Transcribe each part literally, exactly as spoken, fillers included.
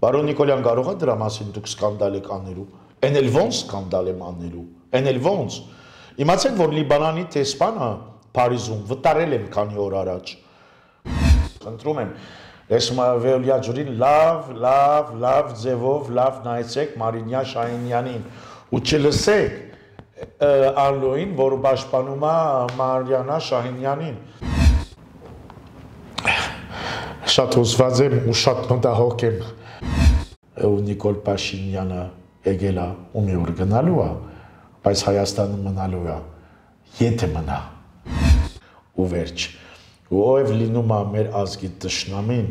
Բարոն Նիկոլյան, կարող է դրա մասին դուք սկանդալ եք անելու։ Էն էլ ոնց սկանդալ եմ անելու։ Էն էլ ոնց։ Իմացեք, որ Լիբանանի տեսփանը Փարիզում վտարել եմ քանի օր առաջ։ Խնդրում եմ, ես Վեոլիա ջուրին լավ, լավ, լավ ձևով, լավ նայեցեք Մարինյա Շահինյանին ու չլսեք Ալլոին, որ պաշտպանում է Մարիանա Շահինյանին։ Շատ հուզված եմ ու շատ մտահոգ եմ։ Ու Նիկոլ Փաշինյանը եկել է ու մի օր գնալու է, բայց Հայաստանը մնալու է, եթե մնա։ Ու վերջ։ Ու ով լինում է մեր ազգի թշնամին,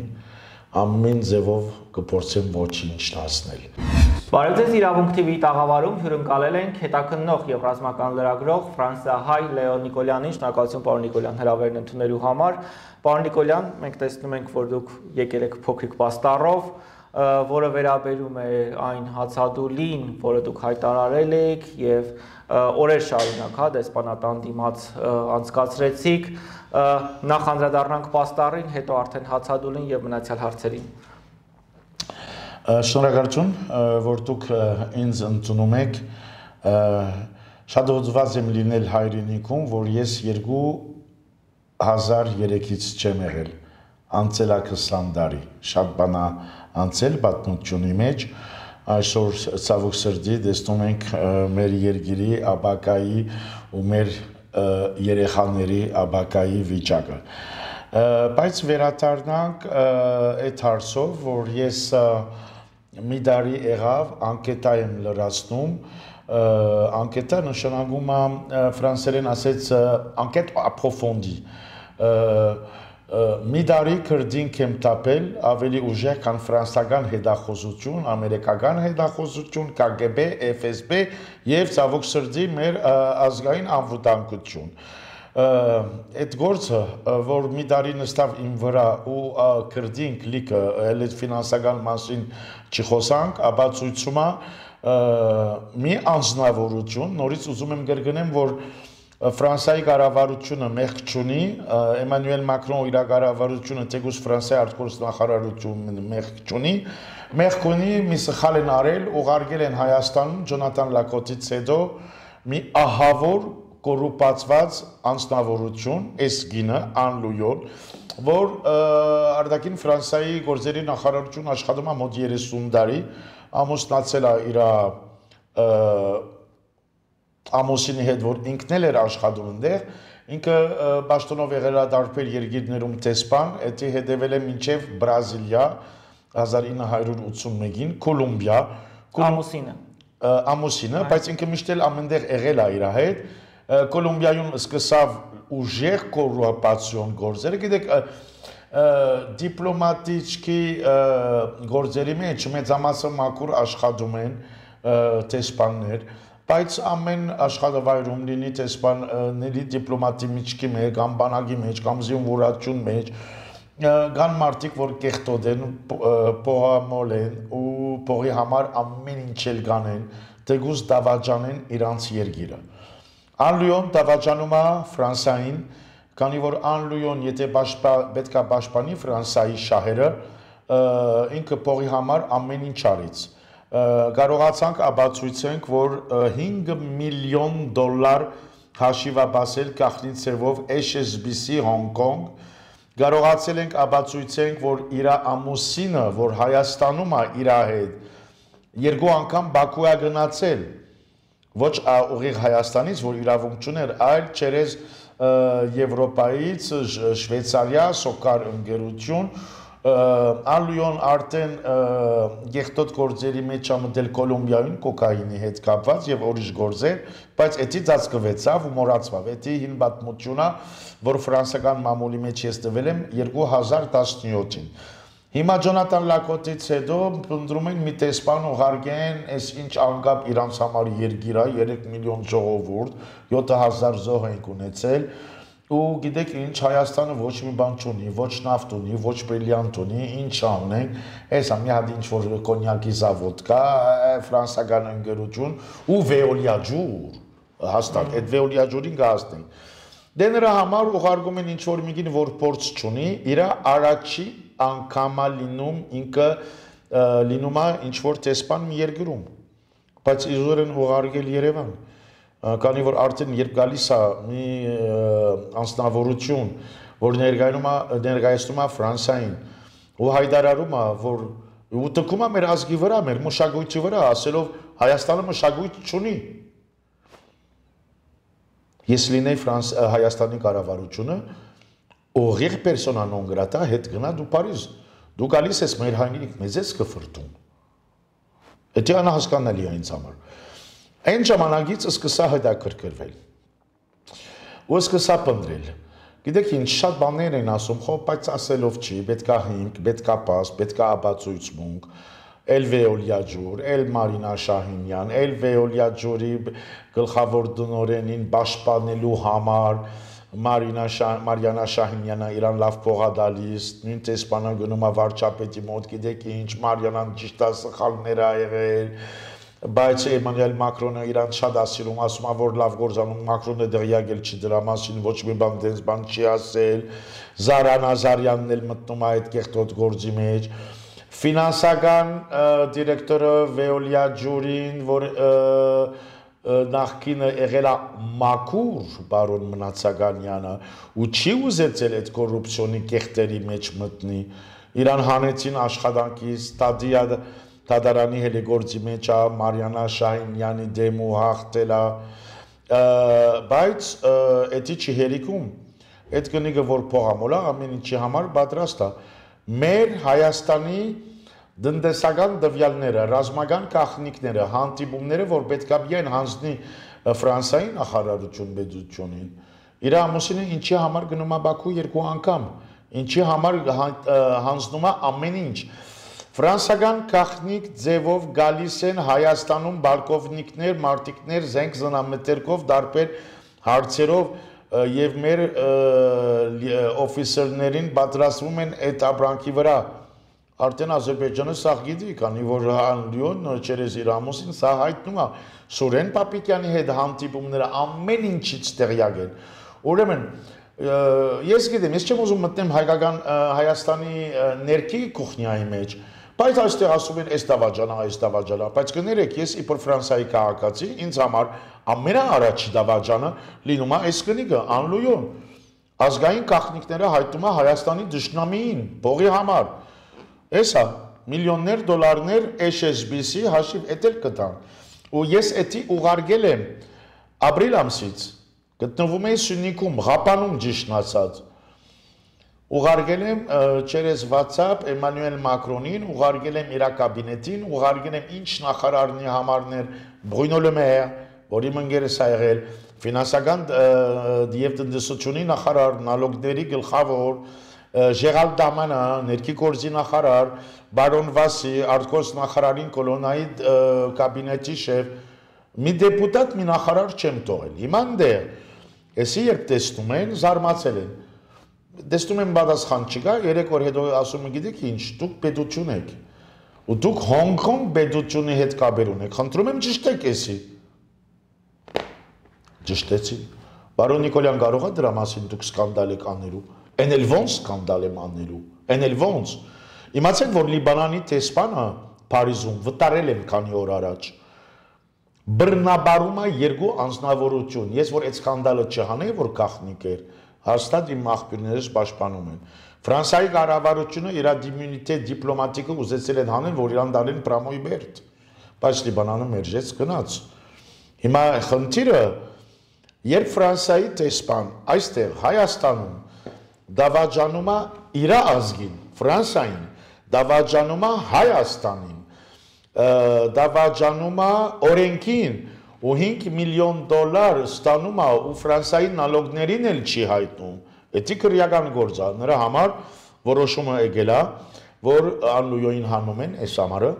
ամեն ձևով կփորձեմ ոչինչ դասնել։ Բարև ձեզ, Իրավունք թի վի տաղավարում հյուրընկալել ենք հետաքննող եւ ռազմական լրագրող ֆրանսիահայ Լեոն Նիկոլյանին։ Շնորհակալություն պարոն Նիկոլյան հրավերն ընդունելու համար։ Պարոն Նիկոլյան, մենք տեսնում ենք, որ դուք եկել եք փոքրիկ պաստառով, որը վերաբերում է այն հացադուլին, որը դուք հայտարարել եք եւ օրեր շարունակ, հա, դեսպանատան դիմաց անցկացրեցիք։ Նախ անդրադառնանք պաստառին, հետո արդեն հացադուլին եւ մնացյալ հարցերին։ Շնորհակալություն, որ դուք ինձ ընդունում եք, շատ հուզված եմ լինել հայրենիքում, որ ես երկու հազար երեքից չեմ եղել, անցել է քսան տարի, շատ բան է անցել պատմությունի մեջ, այսօր ցավոք սրտի տեսնում ենք մեր երկրի ապագայի ու մեր երեխաների ապագայի վիճակը։ Բայց վերադառնանք այդ հարցով, որ ես մի տարի եղավ, անկետա եմ լրացնում, անկետա նշանակում է ֆրանսերեն ասեց անկետ ապրոֆոնդի, մի տարի քրդինք եմ տապել ավելի ուժեղ, քան ֆրանսական հետախուզություն, ամերիկական հետախուզություն, Կ Գ B, F S B եւ ցավոք սրտի մեր ազգային անվտանգություն։ Այդ գործը, որ մի տարի նստավ իմ վրա ու քրդինք լիքը էլ այդ ֆինանսական մասին չխոսանք, ապացույցում է մի անձնավորություն, նորից ուզում եմ կրկնեմ, որ Ֆրանսիայի կառավարությունը մեղք չունի, Էմանուել Մակրոն իր կառավարությունը թեկուզ Ֆրանսիայի արտգործնախարարությունը մեղք չունի, մեղք ունի, մի սխալ են արել, ուղարկել են Հայաստանում Ջոնաթան Լակոտից հետո մի ահավոր կոռուպացված անձնավորություն, այս գինը Անլույոն, որ արտաքին Ֆրանսիայի գործերի նախարարություն աշխատում է մոտ երեսուն տարի, ամուսնացել է իր ամուսինի հետ, որ ինքն էլ էր աշխատում այնտեղ, ինքը պաշտոնով եղել է տարբեր երկիրներում տեսփան, դա հետևել է մինչև Բրազիլիա հազար ինը հարյուր ութսունմեկին, Կոլումբիա, ամուսինը, ամուսինը, բայց ինքը միշտ էլ ամենտեղ եղել է իր հետ, Կոլումբիայում սկսավ ուժեղ կոռուպացիոն գործերը, գիտեք, դիպլոմատիչքի գործերի մեջ մեծամասը մաքուր աշխատում են տեսփաններ, բայց ամեն աշխատավայրում լինի տեսփանների դիպլոմատի միջքի մեջ, կամ բանակի մեջ, կամ զինվորացուն մեջ, կան մարդիկ, որ կեղտոտ են, փողամոլ են ու փողի համար ամեն ինչ էլ կանեն, թեկուզ դավաճանեն իրանց երկիրը։ Անլույոն դավաճանում է Ֆրանսիային, քանի որ Անլույոն եթե պետք է պաշտպանի Ֆրանսիայի շահերը, ինքը փողի համար ամեն ինչ արեց։ Կարողացանք ապացույցենք, որ հինգ միլիոն դոլար հաշիվաբասել գաղտնի ձևով H S B C Hong Kong, կարողացել ենք ապացույցենք, որ իր ամուսինը, որ Հայաստանում է իր հետ, երկու անգամ Բաքու է գնացել, ոչ ուղիղ Հայաստանից, որ իրավունք չուներ, այլ չերես Եվրոպայից, Շվեյցարիա, Սոկար ընկերություն, Անլույոն արդեն եղտոտ գործերի մեջ ամդել Կոլումբիայում կոկայինի հետ կապված եւ ուրիշ գործեր, բայց էդի ծածկվեցավ ու մոռացավ։ Էդի հին պատմությունա, որ ֆրանսիական մամուլի մեջ ես տվել եմ երկու հազար տասնյոթին։ Հիմա Ջոնաթան Լակոտից հետո փնտրում են մի տեսփան ուղարկեն, այս ինչ անկապ իրանց համար երկիր է, երեք միլիոն ժողովուրդ, յոթ հազար զոհ են ունեցել, ու գիտեք ինչ Հայաստանը ոչ մի բան չունի, ոչ նավթ ունի, ոչ բրիլիանտ ունի, ինչ անենք, հեսա մի հատ ինչ որ կոնյակի զավոդ կա, ֆրանսիական ընկերություն ու Վեոլիա ջուր, հաստատ, այդ Վեոլիա ջուրին կհասնենք։ Դե նրա համար ուղարկում են ինչ-որ մեկին, որ փորձ չունի, իր առաջի անգամա լինում ինքը լինում է ինչ որ տեսփան մի երկրում, բայց իզուր են ուղարկել Երևան, քանի որ արդեն երբ գալիս է մի անձնավորություն, որ ներկայանում է ներկայացնում է Ֆրանսիային, ու հայտարարում է, որ ու տկում է մեր ազգի վրա, մեր մշակույթի վրա, ասելով Հայաստանը մշակույթ չունի։ Ես լինեի Հայաստանի կառավարությունը, ուղիղ պերսոնա նոն գրատա հետ գնա դու Փարիզ, դու գալիս ես մեր հայրենիք, մեզ ես կֆրտում։ Դա անհասկանալի է ինձ համար։ Այն ժամանակից սկսա հետաքրքրվել։ Ու սկսա պնդրել։ Գիտեք ինչ, շատ բաներ են ասում, խո բայց ասելով չի, պետքա հիմք, պետքա պաս, պետքա ապացույցմունք, էլ Վեոլիա ջուր, էլ Մարինա Շահինյան, էլ Վեոլիա ջուրի գլխավոր դնորենին պաշտպանելու համար Մարինա Մարիանա Շահինյանը իրան լավ փողադալիս, նույն տեսփանը գնում է վարչապետի մոտ, գիտեք ինչ, Մարիանան ճիշտ է սխալներ ա եղել, բայց Էմանուել Մակրոնը իրան շատ ասիլում, ասում է որ լավ գործանում, Մակրոնը դղյակել չի դրա մասին, ոչ մի բան դենց բան չի ասել, Զարա Նազարյանն էլ մտնում է այդ կեղտոտ գործի մեջ, ֆինանսական դիրեկտորը Վեոլիա ջուրին, որ նախկինը եղել է մաքուր բարոն Մնացականյանը ու չի ուզեցել այդ կոռուպցիոնի կեղտերի մեջ մտնի, իրան հանեցին աշխատանքից, Տադիա Տադարանի հելիգործի մեջ է, Մարիանա Շահինյանի դեմ ու հաղթել է, բայց էդի չի հերիքում, այդ կնիկը որ փողամոլ է, ամեն ինչի համար պատրաստ է, մեր Հայաստանի դնդեսական դվյալները, ռազմական կախնիկները, հանդիպումները, որ պետք է միայն հանձնի Ֆրանսիայի նախարարություն պետությունին, իր ամուսինը ինչի համար գնում է Բաքու երկու անգամ, ինչի համար հանձնում է ամեն ինչ, ֆրանսիական կախնիկ ձևով գալիս են Հայաստանում բալկովնիկներ, մարտիկներ, զենք զնամետերքով, դարբեր հարցերով եւ մեր օֆիսերներին պատրաստվում են այդ ապրանքի վրա Արդեն Ադրբեջանը սա գիտի, քանի որ Լիոն չերես իր ամուսին սա հայտնում է Սուրեն Պապիկյանի հետ հանդիպումները ամեն ինչից տեղյակ են։ Ուրեմն ես գիտեմ, ես չեմ ուզում մտնեմ հայկական Հայաստանի ներքի կուխնյայի մեջ, բայց այստեղ ասում են այս դավաճանա, այս դավաճանա, բայց կներեք, ես իբր Ֆրանսիայի քաղաքացի, ինձ համար ամենաառաջի դավաճանը լինում է այս կնիկը Անլույոն։ Ազգային կախնիկները հայտնում է Հայաստանի դաշնամիին, փողի համար։ Էսա միլիոններ դոլարներ H S B C հաշիվ էտել կտան ու ես էդի ուղարկել եմ ապրիլ ամսից գտնվում էի Սյունիքում Ղապանում ճիշտ ասած ուղարկել եմ через WhatsApp Էմանուել Մակրոնին ուղարկել եմ իր կաբինետին ուղարկել եմ ինչ նախարարնի համարներ Բրունո Լը Մեր որի մնգերս ա եղել ֆինանսական եւ տնտեսությունի նախարար նալոգների գլխավոր Ժերալ Դամանը, ներքի գործի նախարար, բարոն Վասի, արտգործ նախարարին կոլոնայի կաբինետի շեֆ, մի դեպուտատ, մի նախարար չեմ թողել։ Հիմա դեր, էսի երբ տեսնում են, զարմացել են։ Տեսնում են պատասխան չկա, երեք օր հետո ասում են գիտեք ինչ, դուք պետություն եք։ Ու դուք Հոնգ-Կոնգ պետությունի հետ կապեր ունեք։ Խնդրում եմ ճշտեք էսի։ Ճշտեցի։ Բարոն Նիկոլյան կարող է դրա մասին դուք սկանդալ եք անելու։ Են էլ ոնց սկանդալ եմ անելու, են էլ ոնց։ Իմացեք, որ Լիբանանի տեսփանը Փարիզում վտարել եմ քանի օր առաջ։ Բռնաբարում է երկու անձնավորություն։ Ես որ այդ սկանդալը չհանեի, որ գախնիկ էր, հաստատ իմ աղբյուրներս պաշտպանում են։ Ֆրանսիայի կառավարությունը իր դիմունիտետ դիպլոմատիկը ուզեցել են հանել, որ իրան դալեն Պրամոյ Բերտ։ Բայց Լիբանանը մերժեց գնաց։ Հիմա խնդիրը, երբ Ֆրանսիայի տեսփան այստեղ Հայաստանում դավաճանում է իր ազգին, Ֆրանսիային, դավաճանում է Հայաստանին, դավաճանում է օրենքին ու հինգ միլիոն դոլար ստանում է ու Ֆրանսիայի նալոգներին էլ չի հայտնում, էդի քրեական գործ է, նրա համար որոշումը եկել է, որ Անլույոին հանում են այս ամառը,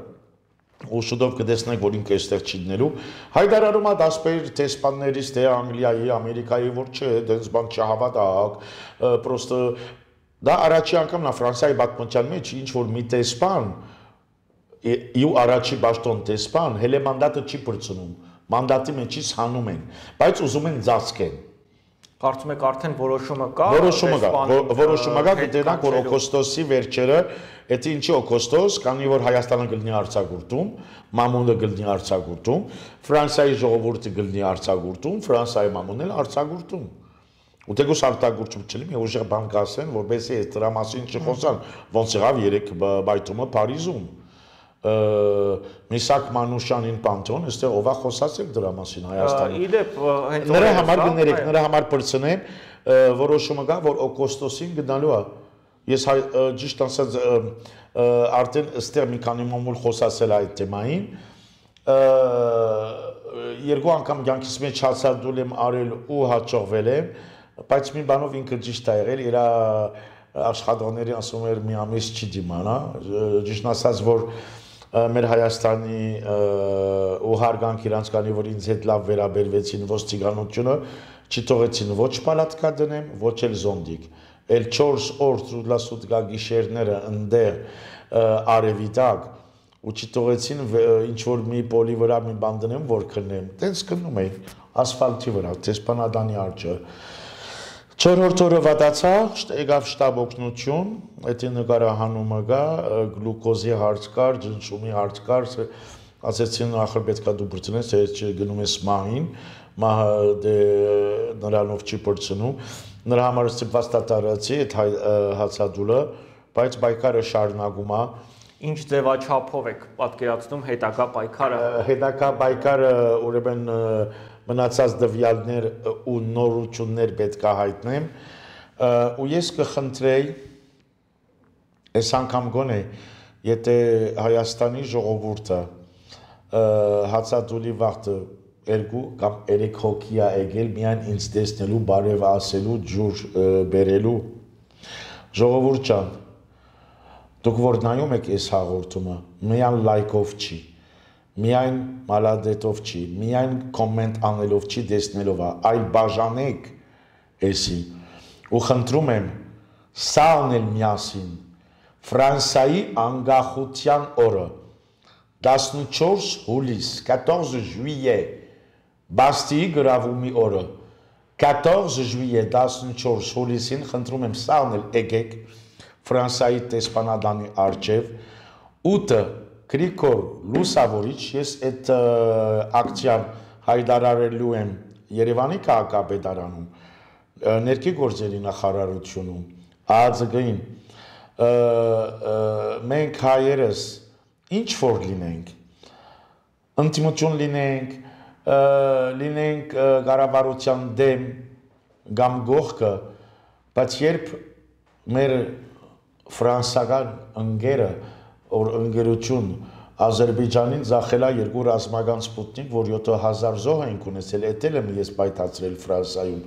ու շուտով կտեսնենք, որ ինքը այստեղ չի դնելու, հայտարարում է դասպեր տեսփաններից, թե Անգլիայի, Ամերիկայի, որ չէ, դենց բան չհավատակ, պրոստը դա առաջի անգամն է Ֆրանսիայի պատմության մեջ, ինչ որ մի տեսփան, ու առաջի պաշտոն տեսփան, հələ մանդատը չի բրցնում, մանդատի մեջից հանում են, բայց ուզում են ծածկեն։ Կարծում եք արդեն որոշումը կա։ Որոշումը կա, որոշումը կա, դրանք որ օգոստոսի վերջերը, դա ինչի օգոստոս, քանի որ Հայաստանը գտնի արձակուրդում, մամուլը գտնի արձակուրդում, Ֆրանսիայի ժողովուրդը գտնի արձակուրդում, Ֆրանսիայի մամուլն էլ արձակուրդում։ Ու դեգուս արտագործում չլինի, մի ուժեղ բան կասեն, որովհետեւ այս դրա մասին չխոսան, ոնց եղավ երեք բայթումը Փարիզում։ Միսակ Մանուշյանին Պանթեոն, այստեղ ով է խոսացել դրա մասին Հայաստանում։ Իդեպ հենց նրա համար գներեք, նրա համար պրծնեն, որոշումը կա, որ օգոստոսին գնալու է։ Ես ճիշտ ասած արդեն այստեղ մի քանի մամուլ խոսացել այդ թեմային։ Երկու անգամ կյանքիս մեջ հացադուլ եմ արել ու հաջողվել եմ, բայց մի բանով ինքը ճիշտ է եղել, իր աշխատողների ասում էր մի ամիս չի դիմանա, ճիշտ ասած որ մեր Հայաստանի ու հարգանք իրանց կանի, որ ինձ հետ լավ վերաբերվեցին ոստիկանությունը, չի թողեցին ոչ պալատկա դնեմ, ոչ էլ զոնդիկ, էլ չորս օր սուտլասուտկա գիշերները ընդեղ արևի տակ, ու չի թողեցին ինչ-որ մի պոլի վրա մի բան դնեմ, որ քննեմ, տենց քննում էի, ասֆալտի վրա, Տեսպանադանի արջը, չորրորդ օրը վատացա, եկավ շտաբ օգնություն, այդ նկարահանումը գա, գլուկոզի հարց կար, ջնշումի հարց կար, ասեցին ախր պետքա դու բրցնես, թե գնում ես մահին, մահը նրանով չի բրցնում, նրա համար ստիպված տատարացի այդ հացադուլը, բայց պայքարը շարունակում է։ Ինչ ձևաչափով եք պատկերացնում հետագա պայքարը։ Հետագա պայքարը ուրեմն մնացած դվյալներ ու նորություններ պետք է հայտնեմ, ու ես կխնդրեի, այս անգամ գոնե, եթե Հայաստանի ժողովուրդը հացադուլի վաղտը երկու կամ երեք հոգի է եկել միայն ինձ տեսնելու, բարև ասելու, ջուր բերելու, ժողովուրդ ջան, դուք որ նայում եք այս հաղորդումը, միայն լայքով չի, միայն մալադետով չի, միայն կոմենտ անելով չի, տեսնելով է, այլ բաժանեք էսի, ու խնդրում եմ, սա անել միասին, Ֆրանսիայի անկախության օրը, տասնչորս հուլիս, quatorze juillet, Բաստիի գրավումի օրը, quatorze juillet, տասնչորս հուլիսին, խնդրում եմ, սա անել եկեք, Ֆրանսիայի տեսփանադանի առջև, ութը Գրիգոր Լուսավորիչ, ես այդ ակցիան հայտարարելու եմ Երևանի քաղաքապետարանում, ներքի գործերի նախարարությունում, ԱԱԾԳ-ին, մենք հայերս ինչ որ լինենք, ընդդիմություն լինենք, լինենք կառավարության դեմ կամ գողքը, բայց երբ մեր ֆրանսական ընկերը որ ընկերություն Ադրբեջանին ձախել է երկու ռազմական սպուտնիկ, որ յոթ հազար զոհ ենք ունեցել, էտել եմ ես պայթացրել Ֆրանսիայում։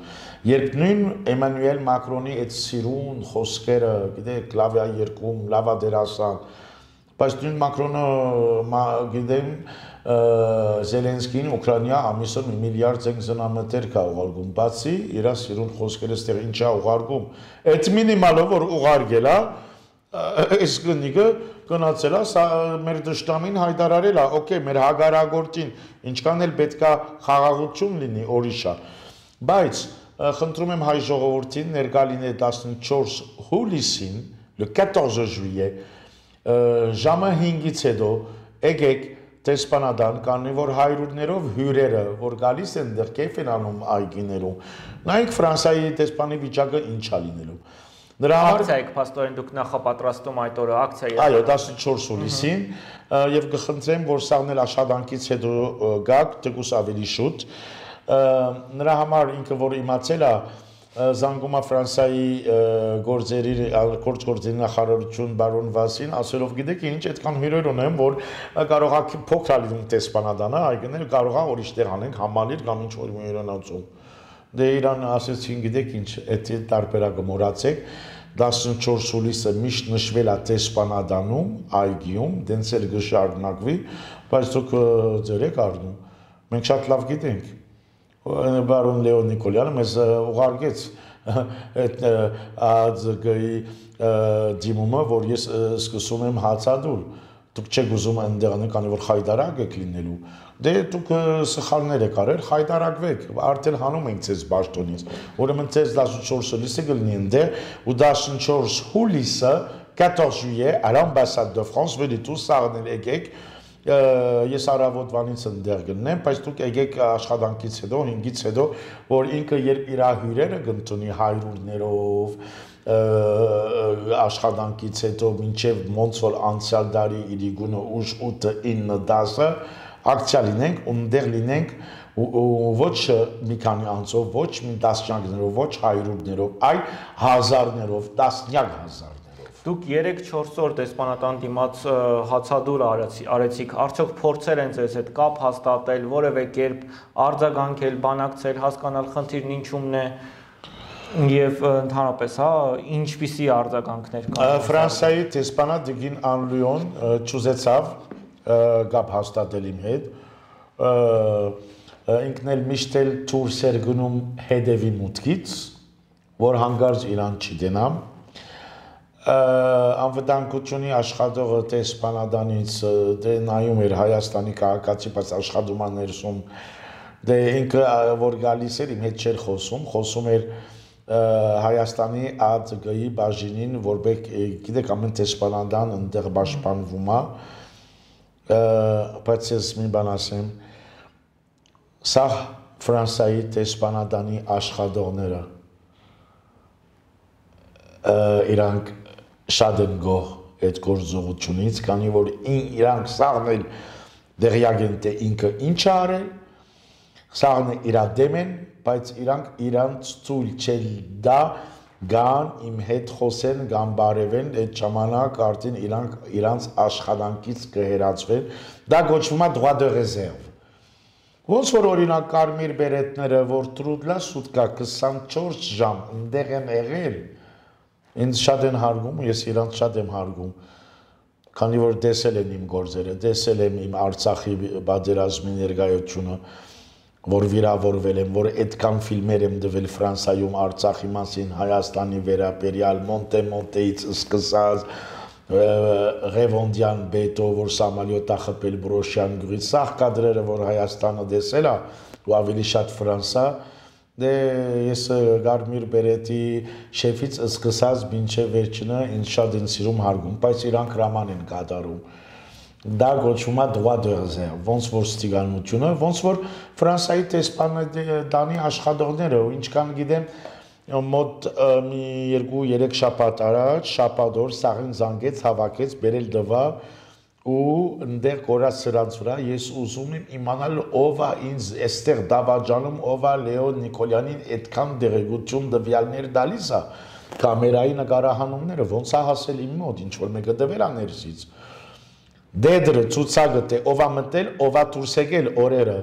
Երբ նույն Էմանուել Մակրոնի այդ սիրուն խոսքերը, գիտեք, լավ է երկում, լավ է դերասան, բայց նույն Մակրոնը, գիտեմ, Զելենսկին Ուկրաինա ամիսը մի միլիարդ զենք զնամետեր կա ուղարկում, բացի իր սիրուն խոսքերը ստեղ ինչ է ուղարկում։ Այդ մինիմալը, որ ուղարկել է, այս գնիկը գնացել է, մեր դաշտամին հայտարարել է, օքեյ, մեր հագարագործին, ինչքան էլ պետք է խաղաղություն լինի օրիշա, բայց խնդրում եմ հայ ժողովրդին ներկա լինել տասնչորս հուլիսին, le quatorze juillet, ժամը հինգից հետո եկեք տեսփանադան, կանի որ հայրուրներով հյուրերը, որ գալիս են դեռ կեֆ են անում այգիներում, նայեք Ֆրանսիայի տեսփանի վիճակը ինչ է լինելու։ Ակցիա եք փաստորեն դուք նախապատրաստում այդ օրը ակցիա։ Այո, տասնչորս հուլիսին եւ կխնդրեմ, որ սաղն էլ աշխատանքից հետո գաք, թեկուս ավելի շուտ։ Նրա համար ինքը որ իմացել է զանգում է Ֆրանսիայի գործերի գործգործերի նախարարություն բարոն Վասին, ասելով գիտեք ինչ այդքան հյուրեր ունեմ, որ կարող է փոքր լինի տեսփանադանը, այգիներ կարող է ուրիշտեղ անենք համալիր կամ ինչ որ հյուրանոցում։ Դե իրան ասեցին գիտեք ինչ, այդ տարբերակը մոռացեք, տասնչորս հուլիսը միշտ նշվել է տեսփանադանում, այգիում, դենց էլ կշարունակվի, բայց դուք ձեր եք առնում։ Մենք շատ լավ գիտենք։ Բարոն Լեոն Նիկոլյանը մեզ ուղարկեց այդ ԱԱԾԳ-ի դիմումը, որ ես սկսում եմ հացադուլ, դուք չեք ուզում այնտեղ անեք, քանի որ խայդարակ եք լինելու։ Դե դուք սխալներ եք արել, խայդարակվեք, արդեն հանում ենք ձեզ բաշտոնից։ Ուրեմն ձեզ տասնչորս հուլիսը կլինի այնտեղ, ու տասնչորս հուլիսը quatorze juillet à l'ambassade de France, venez tous սաղնել եկեք։ Ես առավոտվանից ընդեղ գտնեմ, բայց դուք եկեք աշխատանքից հետո, հինգից հետո, որ ինքը երբ իր հյուրերը կընդունի հայրուրներով, աշխատանքից հետո մինչև ոնց որ անցյալ տարի իր գունը ուշ ութը ինը դասը ակցիա լինենք, ունդեղ լինենք ոչ մի քանի անձով, ոչ մի տասնյակներով, ոչ հայրուրներով, այլ հազարներով, տասնյակ հազարներով։ Դուք երեք-չորս օր դեսպանատան դիմաց հացադուլ արեցիք, արդյոք փորձեր են ձեզ հետ կապ հաստատել, որևէ կերպ արձագանքել, բանակցել, հասկանալ խնդիրն ինչումն է եւ ընդհանրապես, հա, ինչպիսի արձագանքներ կան։ Ֆրանսիայի դեսպանատ Դիգին Անլիոն ճուզեցավ կապ հաստատել իմ հետ, ինքն էլ միշտ էլ դուրս էր գնում հետևի մուտքից, որ հանգարց իրան չդենամ, անվտանգությունի աշխատողը դեսպանատանից դե նայում էր Հայաստանի քաղաքացի, բայց աշխատում էր ներսում, դե ինքը որ գալիս էր իմ հետ չէր խոսում, խոսում էր Հայաստանի ԱԾԳ-ի բաժինին, որբեք գիտեք ամեն դեսպանատան ընդեղ պաշտպանվում է, բայց ես մի բան ասեմ, սա Ֆրանսիայի դեսպանատանի աշխատողները իրանք շատ են գոհ այդ գործողությունից, քանի որ իրանք սաղն էլ դեղյակ են թե ինքը ինչ է արել, սաղն է իրա դեմ են, բայց իրանք իրանց ցույլ չել դա գան իմ հետ խոսեն, գան բարևեն, այդ ժամանակ արդեն իրանք իրանց աշխատանքից կհերացվեն, դա գոչվում է droit de réserve։ Ոնց որ օրինակ կարմիր բերետները, որ տրուդլա սուտկա քսանչորս ժամ ընդեղ են եղել, ինձ շատ են հարգում, ես իրանց շատ եմ հարգում, քանի որ տեսել են իմ գործերը, տեսել եմ իմ Արցախի պատերազմի ներկայությունը, որ վիրավորվել եմ, որ այդքան ֆիլմեր եմ դվել Ֆրանսիայում Արցախի մասին, Հայաստանի վերաբերյալ, Մոնտե-Մոնտեից սկսած, Ռևոնդյան բետո, որ Սամալյոտա խփել Բրոշյան գյուղից, սաղ կադրերը, որ Հայաստանը տեսել է, ու ավելի շատ Ֆրանսա, դե ես կարմիր բերետի շեֆից սկսած մինչև վերջինը ինձ շատ են սիրում հարգում, բայց իրանք հրաման են կատարում։ Դա գոչվում է droit de réserve, ոնց որ ստիգանությունը, ոնց որ Ֆրանսիայի դեսպանատանի աշխատողները, ու ինչքան գիտեմ, մոտ մի երկու-երեք շաբաթ առաջ, շաբաթ օր սաղին զանգեց, հավաքեց, բերել դվա ու ընդեղ կորած սրանց վրա ես ուզում եմ իմանալ ով է ինձ այստեղ դավաճանում, ով է Լեոն Նիկոլյանին այդքան դեղեցություն տվյալներ տալիս է, կամերայի նկարահանումները ոնց է հասել իմ մոտ, ինչ որ մեկը տվել է ներսից։ Դեդրը ցուցակը թե ով է մտել, ով է դուրս եկել օրերը,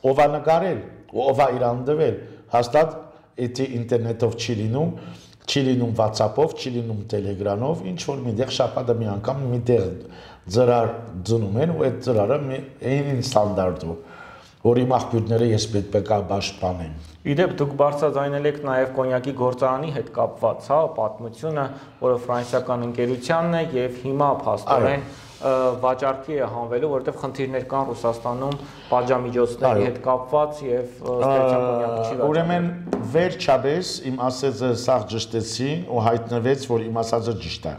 ով է նկարել, ով է իրան տվել, հաստատ էդի ինտերնետով չի լինում, չի լինում WhatsApp-ով, չի լինում Telegram-ով, ինչ որ միտեղ շաբաթը մի անգամ միտեղ ծրար դնում են ու այդ ծրարը այն ստանդարտով, որ իմ աղբյուրները ես պետք է պաշտպանեմ։ Իդեպ դուք բարձրաձայնել եք նաև կոնյակի գործարանի հետ կապված, հա, պատմությունը, որը ֆրանսիական ընկերությանն է եւ հիմա փաստորեն վաճառքի է հանվելու, որովհետև խնդիրներ կան Ռուսաստանում պատժամիջոցների հետ կապված եւ կոնյակը չի վաճառվում։ Ուրեմն վերջապես իմ ասածը սաղ ճշտեցի ու հայտնվեց, որ իմ ասածը ճիշտ է։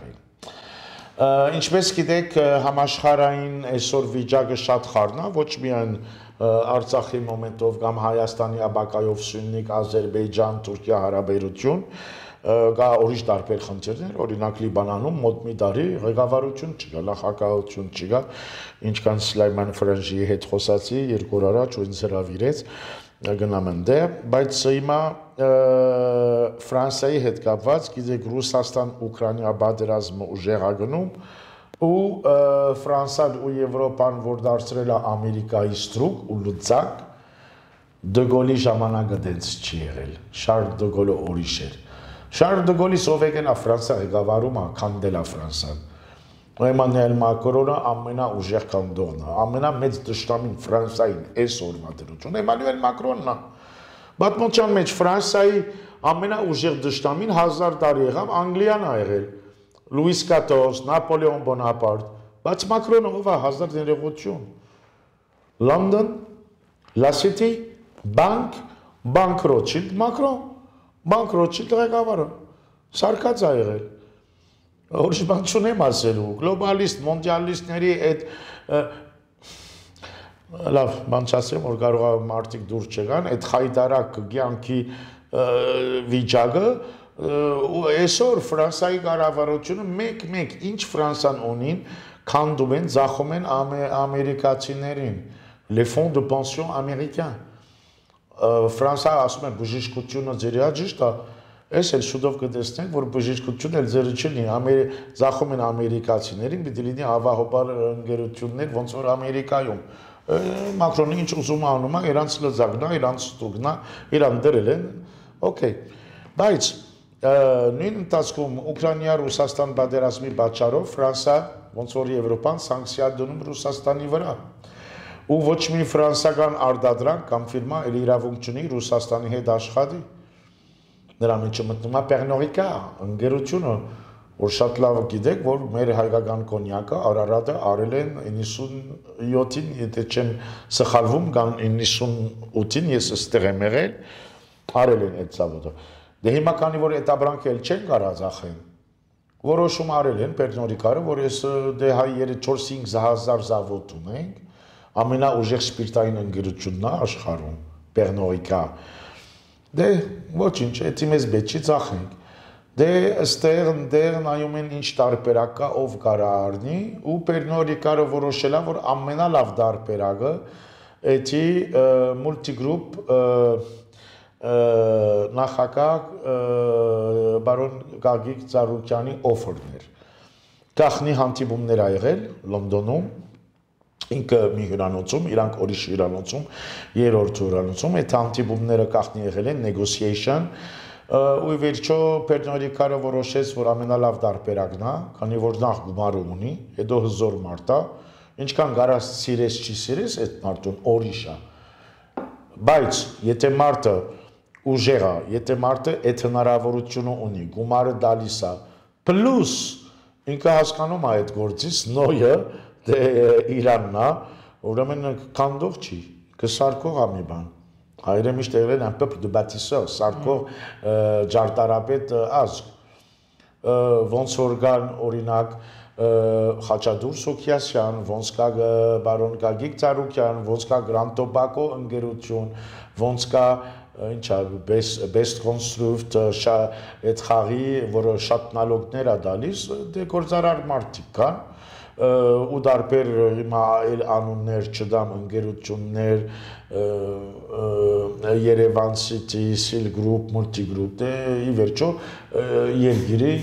Ինչպես գիտեք, համաշխարհային այսօր վիճակը շատ խառն է, ոչ միայն Արցախի մոմենտով կամ Հայաստանի աբակայով Սյունիք, Ադրբեջան, Թուրքիա հարաբերություն, կա ուրիշ տարբեր խնդիրներ, օրինակ Լիբանանում մոտ մի տարի ղեկավարություն չկա, նախագահություն չկա, ինչքան Սլայման Ֆրանժիի հետ խոսացի երկու օր առաջ ու ինձ հրավիրեց գնամ ընդեղ, բայց հիմա Ֆրանսիայի հետ կապված, գիտեք, Ռուսաստան-Ուկրաինա պատերազմը ուժեղ է գնում ու Ֆրանսիան ու Եվրոպան, որ դարձրել է Ամերիկայի ստրուկ ու լծակ, Դե Գոլի ժամանակը դենց չի եղել, Շարլ Դե Գոլը ուրիշ էր։ Շարլ Դե Գոլի սովետն է Ֆրանսիա ղեկավարում է, քանդել է Ֆրանսիան։ Էմանուել Մակրոնը ամենաուժեղ քանդողն է, ամենամեծ դաշտամին Ֆրանսիային այսօրվա դրություն Էմանուել Մակրոնն է։ Պատմության մեջ Ֆրանսիայի ամենաուժեղ դաշտամին հազար տարի եղավ Անգլիան ա եղել։ Լուիս քառորդ, Նապոլեոն Բոնապարտ, բայց Մակրոնը ով է հազար ներողություն։ London, La City, Bank, Bank Rothschild, Macron, Bank Rothschild ղեկավարը։ Սարկած ա եղել։ Ուրիշ բան չունեմ ասելու, գլոբալիստ, մոնդիալիստների այդ լավ, բան չասեմ, որ կարող է մարդիկ դուրս չգան, այդ խայդարակ կյանքի վիճակը այսօր Ֆրանսիայի կառավարությունը մեկ-մեկ ինչ Ֆրանսան ունին, քանդում են, ձախում են ամերիկացիներին, les fonds de pension américains։ Ֆրանսիա ասում է բժշկությունը ձեր է, ճիշտ է։ Այս էլ շուտով կտեսնենք, որ բժշկությունը էլ ձերը չլինի, ձախում են ամերիկացիներին, պիտի լինի հավահոբար ընկերություններ, ոնց որ Ամերիկայում։ Մակրոնը ինչ ուզում անում է, իրանց լծակն է, իրանց ստուգն է, իրան դրել են, օքեյ։ Բայց նույն ընթացքում Ուկրաինա-Ռուսաստան պատերազմի պատճառով Ֆրանսիա, ոնց որ Եվրոպան սանկցիա դնում Ռուսաստանի վրա։ Ու ոչ մի ֆրանսիական արտադրանք կամ ֆիրմա էլ իրավունք չունի Ռուսաստանի հետ աշխատի։ Նրա մեջ մտնում է Pernod Ricard ընկերությունը, որ շատ լավ գիտեք, որ մեր հայկական կոնյակը Արարատը արել են իննսունյոթին, եթե չեմ սխալվում, կամ իննսունութին, ես այստեղ եմ եղել, արել են այդ ծավալը։ Դե հիմա քանի որ այդ ապրանքը էլ չեն կարող ծախեն, որոշում արել են Pernod Ricard-ը, որ ես դե հայ չորս-հինգ հազար զավոտ ունենք, ամենաուժեղ սպիրտային ընկերությունն է աշխարհում, Pernod Ricard։ Դե ոչինչ, էդի մեզ բեջի ծախենք։ Դե ըստեղ ընդեղ նայում են ինչ տարբերակ կա, ով կարա առնի, ու Pernod Ricard-ը որոշել է, որ ամենալավ տարբերակը էդի մուլտիգրուպ նախագահ բարոն Գագիկ Ծառուկյանի օֆերներ։ Գախնի հանդիպումներ ա եղել Լոնդոնում, ինքը մի հյուրանոցում, իրանք ուրիշ հյուրանոցում, երրորդ հյուրանոցում, այդ հանդիպումները գախնի եղել են negotiation, ու վերջո Pernod Ricard-ը որոշեց, որ ամենալավ տարբերակն է, քանի որ նախ գումարը ունի, հետո հզոր մարդ է, ինչքան գարած սիրես չի սիրես այդ մարդուն ուրիշ է։ Բայց եթե մարդը ուժեղ է, եթե մարդը այդ հնարավորությունը ունի, գումարը տալիս է, պլյուս ինքը հասկանում է այդ գործից, նոյը դե Իրանն է, ուրեմն քանդող չի, կսարկող է մի բան։ Հայերը միշտ եղել են un peuple de bâtisseurs, սարկող ջարտարապետ ազգ։ Ոնց որ կան օրինակ Խաչատուր Սոքիասյան, ոնց կա բարոն Գագիկ Ծառուկյան, ոնց կա Grand Tobacco ընկերություն, ոնց կա ինչա best construct այդ խաղի, որը շատ նալոգներ է տալիս, դե գործարար մարդիկ կան, ու դարբեր հիմա այլ անուններ չդամ ընկերություններ, Երևան City, Seal Group, Multi Group, դե ի վերջո երկիրի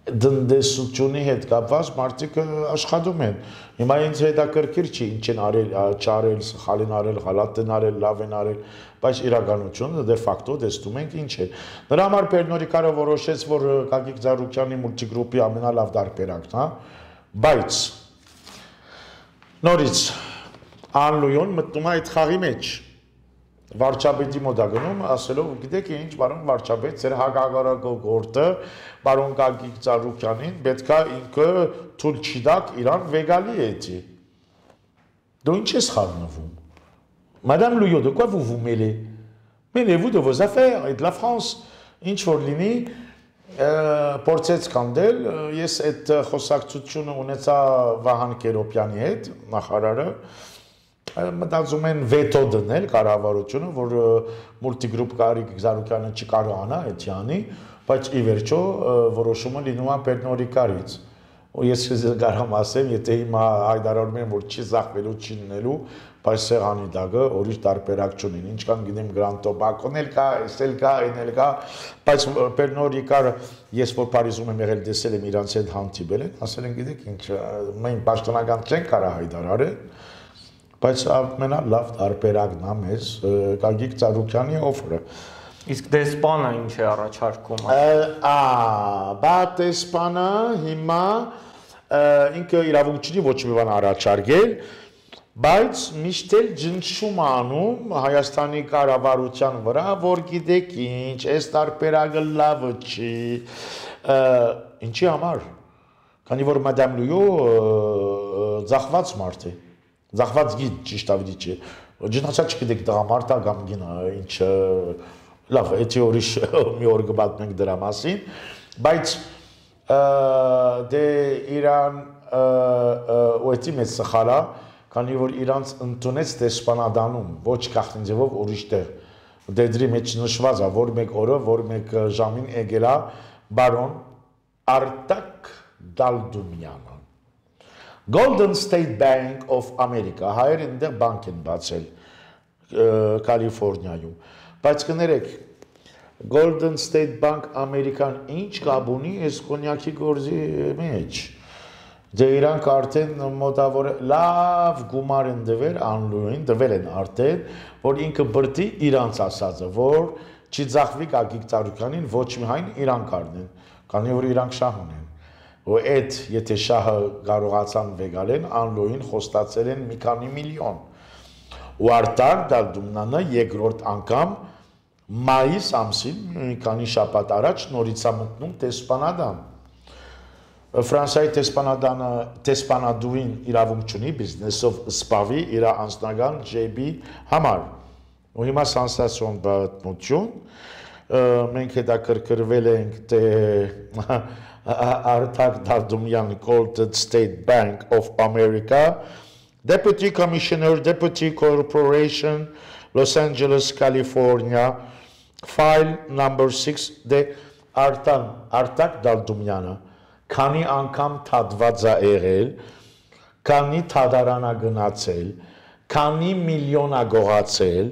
դնդեսությունի հետ կապված մարդիկ աշխատում են։ Հիմա ինձ հետաքրքիր չի ինչ են արել, չարել, սխալին արել, գալատ են արել, լավ են արել, բայց իրականությունը դե ֆակտո տեսնում ենք ինչ է։ Նրա համար Pernod Ricard-ը որոշեց, որ Գագիկ Ծառուկյանի մուլտիգրուպի ամենալավ տարբերակն է, բայց նորից Անլույոն մտնում է այդ խաղի մեջ։ Վարչապետի մոտ է գնում, ասելով, գիտեք ինչ, բարոն վարչապետ, ձեր հակագարակող գործը բարոն Գագիկ Ծառուկյանին պետք է ինքը թույլ չի տաք իրան վեգալի էդի։ Դու ինչ ես խառնվում։ Madame Louillot, de quoi vous vous mêlez? Mêlez-vous de vos affaires et de la France. Ինչ որ լինի, փորձեց կանդել, ես այդ խոսակցությունը ունեցա Վահան Կերոպյանի հետ, նախարարը, մտածում են վետո դնել կառավարությունը, որ մուլտիգրուպ Գագիկ Ծառուկյանը չկարողանա այդ յանի, բայց ի վերջո որոշումը լինում է Pernod Ricard-ից։ Ու ես կարամ ասեմ, եթե հիմա հայտարարում են, որ չի զախվելու, չի լինելու, բայց սեղանի տակը ուրիշ տարբերակ չունին։ Ինչքան գիտեմ Grand Tobacco-ն էլ կա, էս էլ կա, այն էլ կա, բայց Pernod Ricard-ը ես որ Փարիզում եմ եղել, տեսել եմ իրանց հետ հանդիպել են, ասել են գիտեք ինչ, մենք պաշտոնական չենք կարող հայտարարել, բայց ամենալավ տարբերակն է մեզ Գագիկ Ծառուկյանի օֆերը։ Իսկ դեսպանը ինչ է առաջարկում։ Ա, բա դեսպանը հիմա ինքը իրավունք չունի ոչ մի բան առաջարկել, բայց միշտ էլ ջնջում անում Հայաստանի կառավարության վրա, որ գիտեք ինչ, այս տարբերակը լավը չի, ինչի համար։ քանի որ Madame Louis ձախված մարդ է, ձախված գիտ ճիշտ ավելի չէ, ջնացած չգիտեք տղամարդա կամ գինա, ինչ լավ, էդի ուրիշ մի օր կպատմենք դրա մասին, բայց դե Իրան ու էդի մեծ սխալա, քանի որ իրանց ընդունեց դեսպանադանում, ոչ գաղտնի ձևով ուրիշ տեղ, դեդրի մեջ նշված է, որ մեկ օրը, որ մեկ ժամին եկել է բարոն Արտակ Դալդումյանը։ Golden State Bank of America, հայեր այնտեղ բանկ են բացել Կալիֆորնիայում, բայց կներեք, Golden State Bank American ինչ կապ ունի այս կոնյակի գործի մեջ, դե իրանք արդեն մոտավոր լավ գումար են դվել անլույն, դվել են արդեն, որ ինքը բրդի իրանց ասածը, որ չի ձախվի Գագիկ Ծառուկյանին ոչ մի հայն իրանք առնեն, քանի որ իրանք շահ ունեն։ Ու այդ եթե շահը կարողացան վեգալեն, անլույն խոստացել են մի քանի միլիոն։ Ու Արտակ Դալդումյանը երկրորդ անգամ մայիս ամսին, մի քանի շաբաթ առաջ նորից է մտնում դեսպանադան։ Ֆրանսիայի դեսպանադանը դեսպանադուին իրավունք չունի բիզնեսով սպավի իր անձնական ջեբի համար։ Ու հիմա սանսացիոն պատմություն, մենք հետաքրքրվել ենք թե Արտակ Դալդումյան Golden State Bank of America, Deputy Commissioner, Deputy Corporation, Los Angeles, California, file number six, դե Արտան, Արտակ Դալդումյանը, քանի անգամ թադված է եղել, քանի թադարանա գնացել, քանի միլիոն է գողացել,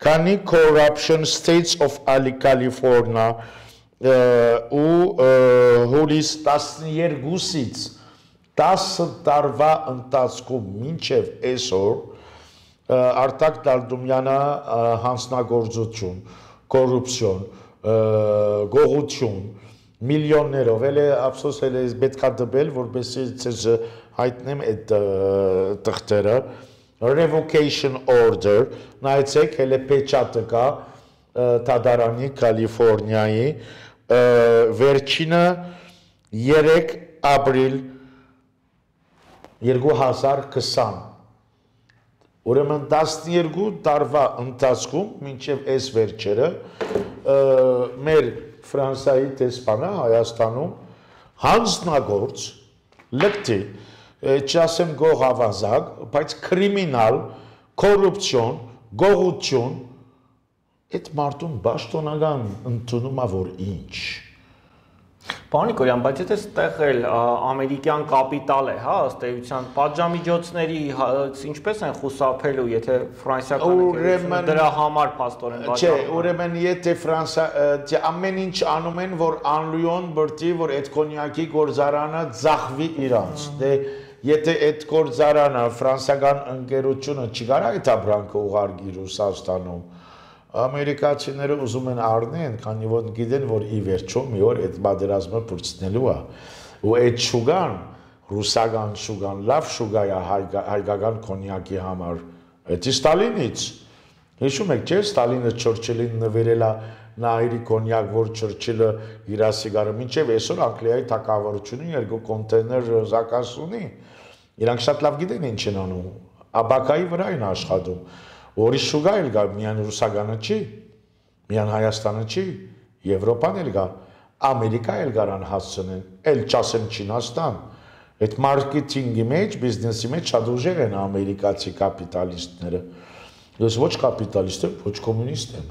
քանի corruption states of California ու հուլիս տասներկուսից տասը տարվա ընթացքում մինչև այսօր Արտակ Դալդումյանը հանձնագործություն, կոռուպցիոն, գողություն, միլիոններով, էլ է ափսոս էլ է պետք է դբել, որպեսզի ցեզ հայտնեմ այդ տղտերը, revocation order, նայեցեք, էլ է պեչատը կա Թադարանի Կալիֆորնիայի, վերջինը երեք ապրիլ երկու հազար քսան, ուրեմն տասներկու տարվա ընթացքում, մինչև այս վերջերը, մեր Ֆրանսիայի դեսպանը Հայաստանում հանձնագործ, լկտի, չասեմ գողավազակ, բայց կրիմինալ, կոռուպցիոն, գողություն, այդ մարդուն բաշտոնական ընդունում է, որ ինչ։ Պարոն Նիկոլյան, բայց եթե ստեղ էլ ամերիկյան կապիտալ է, հա, ըստ էության, պատժամիջոցների ինչպես են խուսափելու, եթե ֆրանսիական ընկերությունը դրա համար փաստորեն Չէ, ուրեմն եթե Ֆրանսիա, ամեն ինչ անում են, որ անլույոն բրդի, որ այդ կոնյակի գործարանը ձախվի իրանց։ Դե եթե այդ գործարանը ֆրանսիական ընկերությունը չկարա այդ ապրանքը ուղարկի Ռուսաստանում, ամերիկացիները ուզում են առնեն, քանի որ գիտեն, որ ի վերջո մի օր այդ պատերազմը փորձնելու է։ Ու այդ շուգան, ռուսական շուգան, լավ շուգա է հայկական կոնյակի համար։ Դա Ստալինից։ Հիշում եք, չէ՞, Ստալինը Չորչիլին նվիրել է նայրի կոնյակ, որ Չորչիլը իր սիգարը մինչև այսօր Անգլիայի թագավորությունը երկու կոնտեյներ զակաս ունի։ Իրանք շատ լավ գիտեն ինչ են անում։ Աբակայի վրա են աշխատում։ Ուրիշ շուգա էլ կա, միայն ռուսականը չի, միայն Հայաստանը չի, Եվրոպան էլ կա, Ամերիկա էլ կարան հասցնեն, էլ չասեմ Չինաստան, այդ մարքեթինգի մեջ, բիզնեսի մեջ շատ ուժեղ են ամերիկացի կապիտալիստները, ես ոչ կապիտալիստ եմ, ոչ կոմունիստ եմ,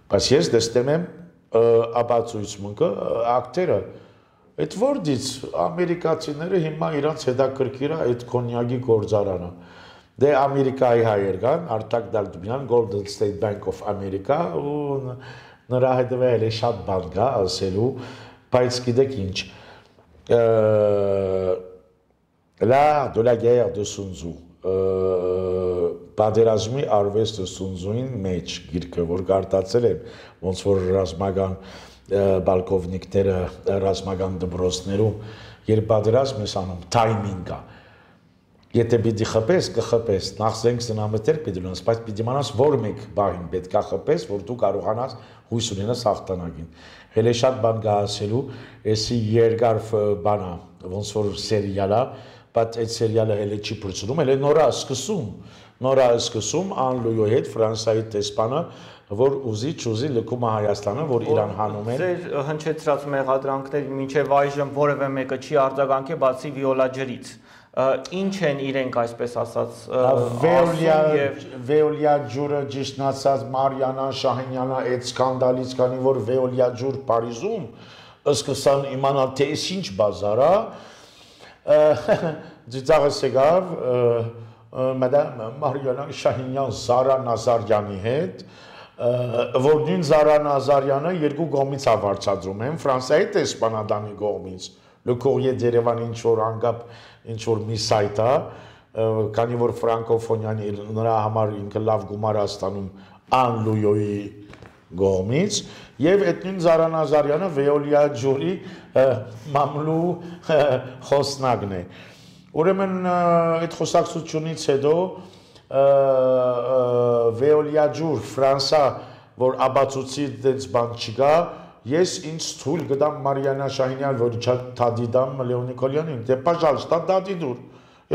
բայց ես դեստեմ եմ ապացույցմունքը, ակտերը, այդ որդից ամերիկացիները հիմա իրանց հետաքրքիր է այդ կոնյակի գործարանը, դե Ամերիկայի հայեր կան, Արտակ Դալդումյան, Golden State Bank of America, ու նրա հետևել է շատ բան կա ասելու, բայց գիտեք ինչ, la de la guerre de Sun Tzu, պատերազմի արվեստը Sun Tzu-ին մեջ գիրքը, որ կարդացել եմ, ոնց որ ռազմական բալկովնիկները, ռազմական դպրոցներում, երբ պատերազմ ես անում, թայմինգ կա, եթե պիտի խփես, կխփես, նախ զենք սնամետեր պիտի ունես, բայց պիտի իմանաս որ մեկ բաղին պետք է խփես, որ դու կարողանաս հույս ունենաս հաղթանակին։ Հələ շատ բան կա ասելու, էսի երկար բանա, ոնց որ սերիալա, բայց այդ սերիալը հենց չի փրկում, հենց նորա սկսում, նորա սկսում Անլույի հետ Ֆրանսիայի տեսփանը, որ ուզի չուզի լքում է Հայաստանը, որ իրան հանում են։ Ձեր հնչեցրած մեղադրանքների մինչև այժմ որևէ մեկը չի արձագանքել, բացի Վիոլա ջրից։ Ինչ են իրենք այսպես ասած Վեոլիա ջուրը ճիշտն ասած Մարիանա Շահինյանը այդ սկանդալից, քանի որ Վեոլիա ջուր Փարիզում սկսան իմանալ թե ինչ բազար է, ծիծաղս եկավ մադամ Մարիանա Շահինյան Զարա Նազարյանի հետ, որ նույն Զարա Նազարյանը երկու կողմից ավարտադրում են, Ֆրանսիայի տեսփանադանի կողմից, Le Courrier d'Erevan ինչ որ անգապ ինչ որ մի սայթ է, քանի որ ֆրանկոֆոնյան նրա համար ինքը լավ գումար է ստանում Անլույի կողմից, եւ այդ նույն Զարա Նազարյանը Վեոլիա ջուրի մամլու խոսնակն է։ Ուրեմն այդ խոսակցությունից հետո Վեոլիա ջուր Ֆրանսա, որ աբացուցի դից բան չկա, ես ինձ թույլ կտամ Մարիանա Շահինյան, որ թադի դամ Լեոն Նիկոլյանին, դե պաժալստա դադի դուր,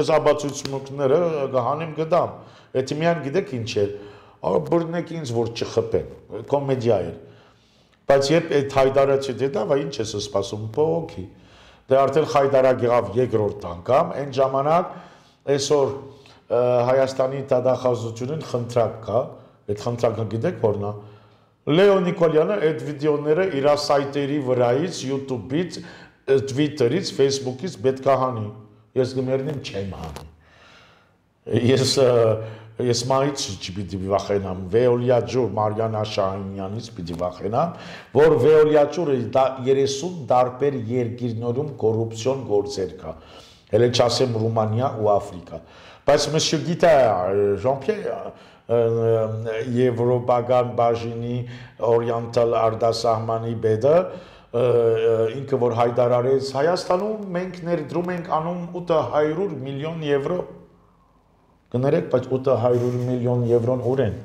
ես աբացուցմունքները կհանեմ կտամ, այդ միան գիտեք ինչ էր, բրնեք ինձ, որ չխպեն, կոմեդիա էր, բայց երբ այդ Հայդարը չդետավ, ինչ ես սպասում, պողոքի, դե արդեն Հայդարա գեղավ երկրորդ անգամ, այն ժամանակ այսօր Հայաստանի դատախազությունն խնդրակ կա, այդ խնդրակը գիտեք որն է, Լեոն Նիկոլյանը այդ վիդեոները իր սայթերի վրայից, YouTube-ից, Twitter-ից, Facebook-ից պետք է հանի, ես գմերնեմ չեմ հանի, ես ես մայից չպիտի վախենամ, Վեոլիա ջուր Մարիանա Շահինյանից պիտի վախենամ, որ Վեոլիա ջուրը երեսուն դարբեր երկիրներում կոռուպցիոն գործեր կա, հենց չասեմ Ռումանիա ու Աֆրիկա, բայց մշը գիտա Ժան-Պիեր Եվրոպական բաժինի օրիենտալ արտասահմանի բեդը ինքը որ հայտարարեց Հայաստանում մենք ներդրում ենք անում ութ հարյուր միլիոն եվրո կներեք, բայց ութ հարյուր միլիոն եվրոն ուր են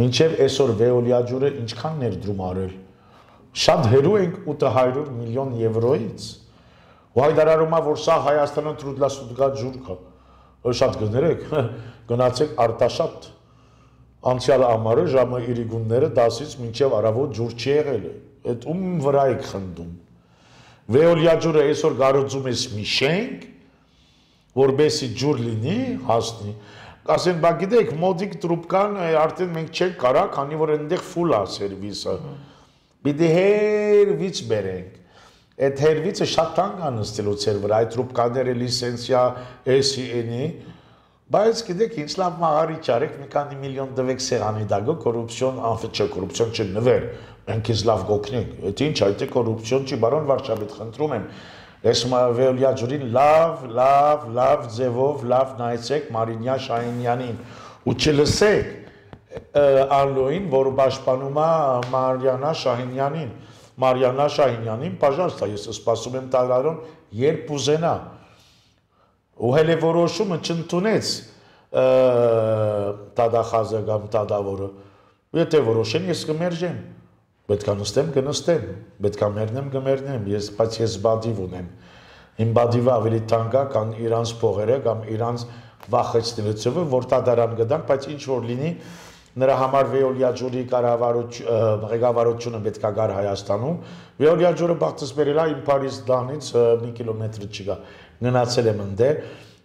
մինչև այսօր Վեոլիա ջուրը ինչքան ներդրում արել շատ հեռու ենք ութ հարյուր միլիոն եվրոից ու հայտարարում է որ սա Հայաստանը թրուդլասուդկա ջուր կա շատ կներեք գնացեք Արտաշատ անցյալ ամառը ժամը իրիգունները դասից մինչև առավոտ ջուր չի եղել այդ ում վրա եք խնդում Վեոլիա ջուրը այսօր գարոծում ես մի շենք որբեսի ջուր լինի հասնի ասեն բա գիտեք մոդիկ տրուբկան արդեն մենք չենք կարա քանի որ այնտեղ ֆուլ է սերվիսը պիտի հերվից բերենք այդ հերվիցը շատ տանգ անստելուց էր վրա այդ տրուբկաները լիսենզիա էս էն-ի բայց գիտեք ինչ լավ մաղարիչ արեք մի քանի միլիոն դվեք սեղանի դագո կոռուպցիոն անֆը չէ կոռուպցիոն չնվեր մենք ինձ լավ գոքնենք այդ ինչ այդ է կոռուպցիոն չի բարոն վարչապետ խնդրում եմ ես Վեոլիա ջուրին լավ լավ լավ ձևով լավ նայեցեք Մարինյա Շահինյանին ու չլսեք Անլուին որ պաշտպանում է Մարիանա Շահինյանին Մարիանա Շահինյանին պաժալստա ես սպասում եմ տարարոն երբ ուզենա ու հենց որոշումը չընդունեց տադախազը կամ տադավորը եթե որոշեն ես կմերժեմ պետք է նստեմ կնստեմ պետք է մեռնեմ կմեռնեմ ես բայց ես բադիվ ունեմ իմ բադիվը ավելի թանկ է քան իրանց փողերը կամ իրանց վախեցնելիցը որ տադարան գտանք բայց ինչ որ լինի նրա համար Վեոլիա ջուրի ղեկավարությունը պետք է գար Հայաստանում Վեոլիա ջուրը բախտս բերել է իմ Փարիզ դանից մի կիլոմետր չկա գնացել եմ ընդեր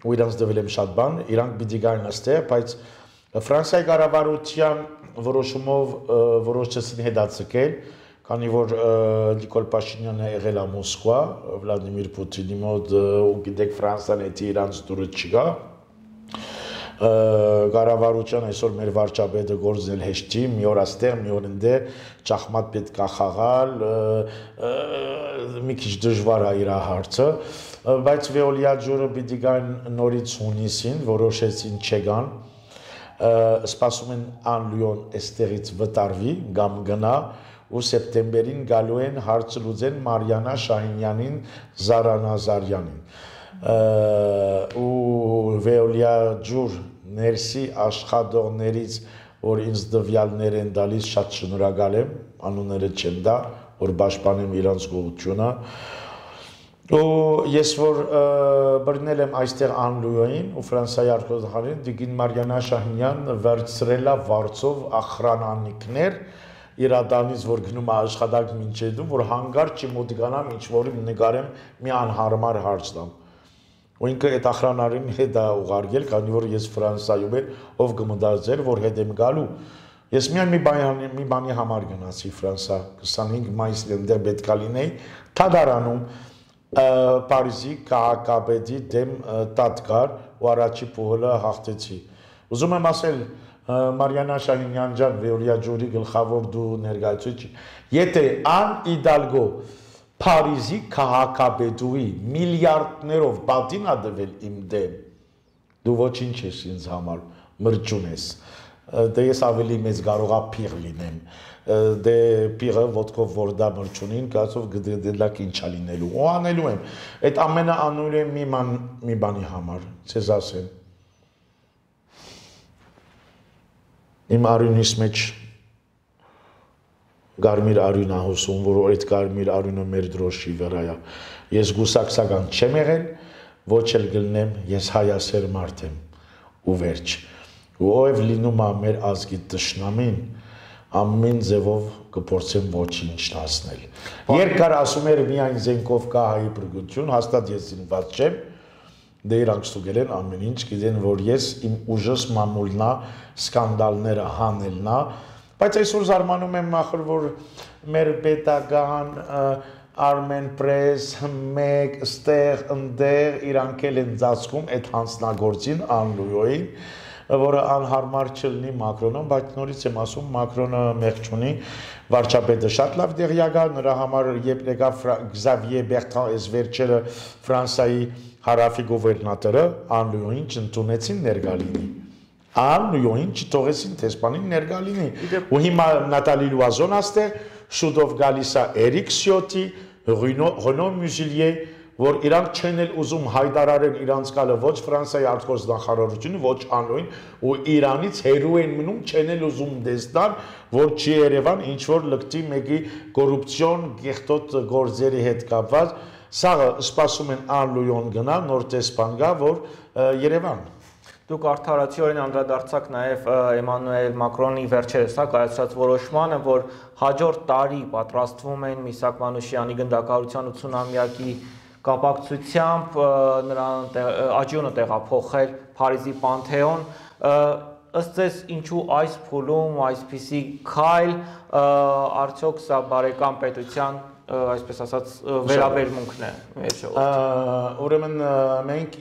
ու իրանց դվել եմ շատ բան իրանք պիտի գային այստեղ բայց Ֆրանսիայի կառավարության որոշումով որոշեցին հետաձգել քանի որ Նիկոլ Փաշինյանը եղել է Մոսկվա Վլադիմիր Պուտինի մոտ ու գիտեք Ֆրանսիան էդի իրանց դուրը չկա կառավարության այսօր մեր վարչապետը գործել հեշտի մի օր աստեղ մի օր ընդեր ճախմատ պետք է խաղալ մի քիչ դժվար է իր հարցը բայց Վեոլիա ջուրը պիտի գան նորից հունիսին որոշեցին չգան սպասում են Անլույոն այստեղից վտարվի կամ գնա ու սեպտեմբերին գալու են հարցը լուծեն Մարիանա Շահինյանին Զարա Նազարյանին ու Վեոլիա ջուր ներսի աշխատողներից որ ինձ դվյալներ են դալիս շատ շնորհակալ եմ անունները չեմ դա որ պաշտպանեմ իրանց գողությունը Ու ես որ բռնել եմ այստեղ Անլույոին ու Ֆրանսիայի արտգործնախարարին Տիկին Մարիանա Շահինյան վերցրել է վարձով ախրանանիկներ իրադանից որ գնում է աշխատանք մինչեդում որ հանգարց չի մոտիկանամ ինչ որ նկարեմ մի անհարմար հարց տամ ու ինքը այդ ախրանարին հետ է ուղարկել քանի որ ես Ֆրանսիայում եմ ով կմտածեր որ հետ եմ գալու ես միայն մի բանի մի բանի համար գնացի Ֆրանսիա քսանհինգ մայիսին դեռ պետք է լինեի Թադարանում Պարիզի քաղաքապետի դեմ տատկար ու առաջի փողը հաղթեցի։ Ուզում եմ ասել Մարիանա Շահինյան ջան, Վեորիա ջուրի գլխավոր դու ներկայացուցիչ, եթե Ան Իդալգո Պարիզի քաղաքապետուի միլիարդներով պատին ա դվել իմ դեմ, դու ոչինչ ես ինձ համար, մրջուն ես։ Դե ես ավելի մեծ կարողա փիղ լինեմ։ Դե փիղը ոտքով որ դա մրջունին կասով գդելակ ինչա լինելու ու անելու եմ այդ ամենը անելու եմ մի ման մի բանի համար ցեզ ասեմ իմ արյունիս մեջ գարմիր արյուն ա հոսում որ այդ գարմիր արյունը մեր դրոշի վրա է ես գուսակցական չեմ եղել ոչ էլ գտնեմ ես հայասեր մարդ եմ ու վերջ ու ով լինում է մեր ազգի տշնամին ամեն ձևով կփորձեմ ոչինչ հասնել։ Երկար ասում էր միայն զենքով կա հայի բրգություն, հաստատ ես ինված չեմ, դե իրանք ստուգել են ամեն ինչ, գիտեն որ ես իմ ուժս մամուլնա, սկանդալները հանելնա, բայց այսօր զարմանում եմ ախր որ մեր պետական Armen Press մեկ ստեղ ընդեղ իրանք էլ են ծածկում այդ հանձնագործին Անլույոին որը անհարմար չլինի Մակրոնում, բայց նորից եմ ասում Մակրոնը մեղք չունի, վարչապետը շատ լավ տեղյակ է, նրա համար երբ եկավ Xavier Bertrand այս վերջերը Ֆրանսիայի հարավի գուվերնատորը Անլույոին չընդունեցին ներկա լինի։ Անլույոին չթողեցին տեսփանին ներկա լինի։ Ու հիմա Նատալի Լուազոն աստեղ շուտով գալիս է Էրիկ Սյոտի, Ռենո Մյուզիլիե որ իրանք չեն էլ ուզում հայտարարեն իրանց կալը ոչ Ֆրանսիայի արտգործնախարարությունը, ոչ Անլուին ու Իրանից հերու են մնում չեն էլ ուզում դեսնալ, որ չի Երևան ինչ որ լկտի մեկի կոռուպցիոն գեղտոտ գործերի հետ կապված, սաղը սպասում են Անլույոն գնա, նոր տեսփան գա, որ Երևան։ Դուք արդարացիորեն անդրադարձաք նաև Էմանուել Մակրոնի վերջերս կայացրած որոշմանը, որ հաջորդ տարի պատրաստվում են Միսակ Մանուշյանի գնդակահարության ութսունամյակի կապակցությամբ նրան աջյունը տեղափոխել Փարիզի Պանթեոն ըստ ձեզ ինչու այս փուլում այսպիսի քայլ արդյոք սա բարեկամ պետության այսպես ասած վերաբերմունքն է մեր ժողովրդի ուրեմն մենք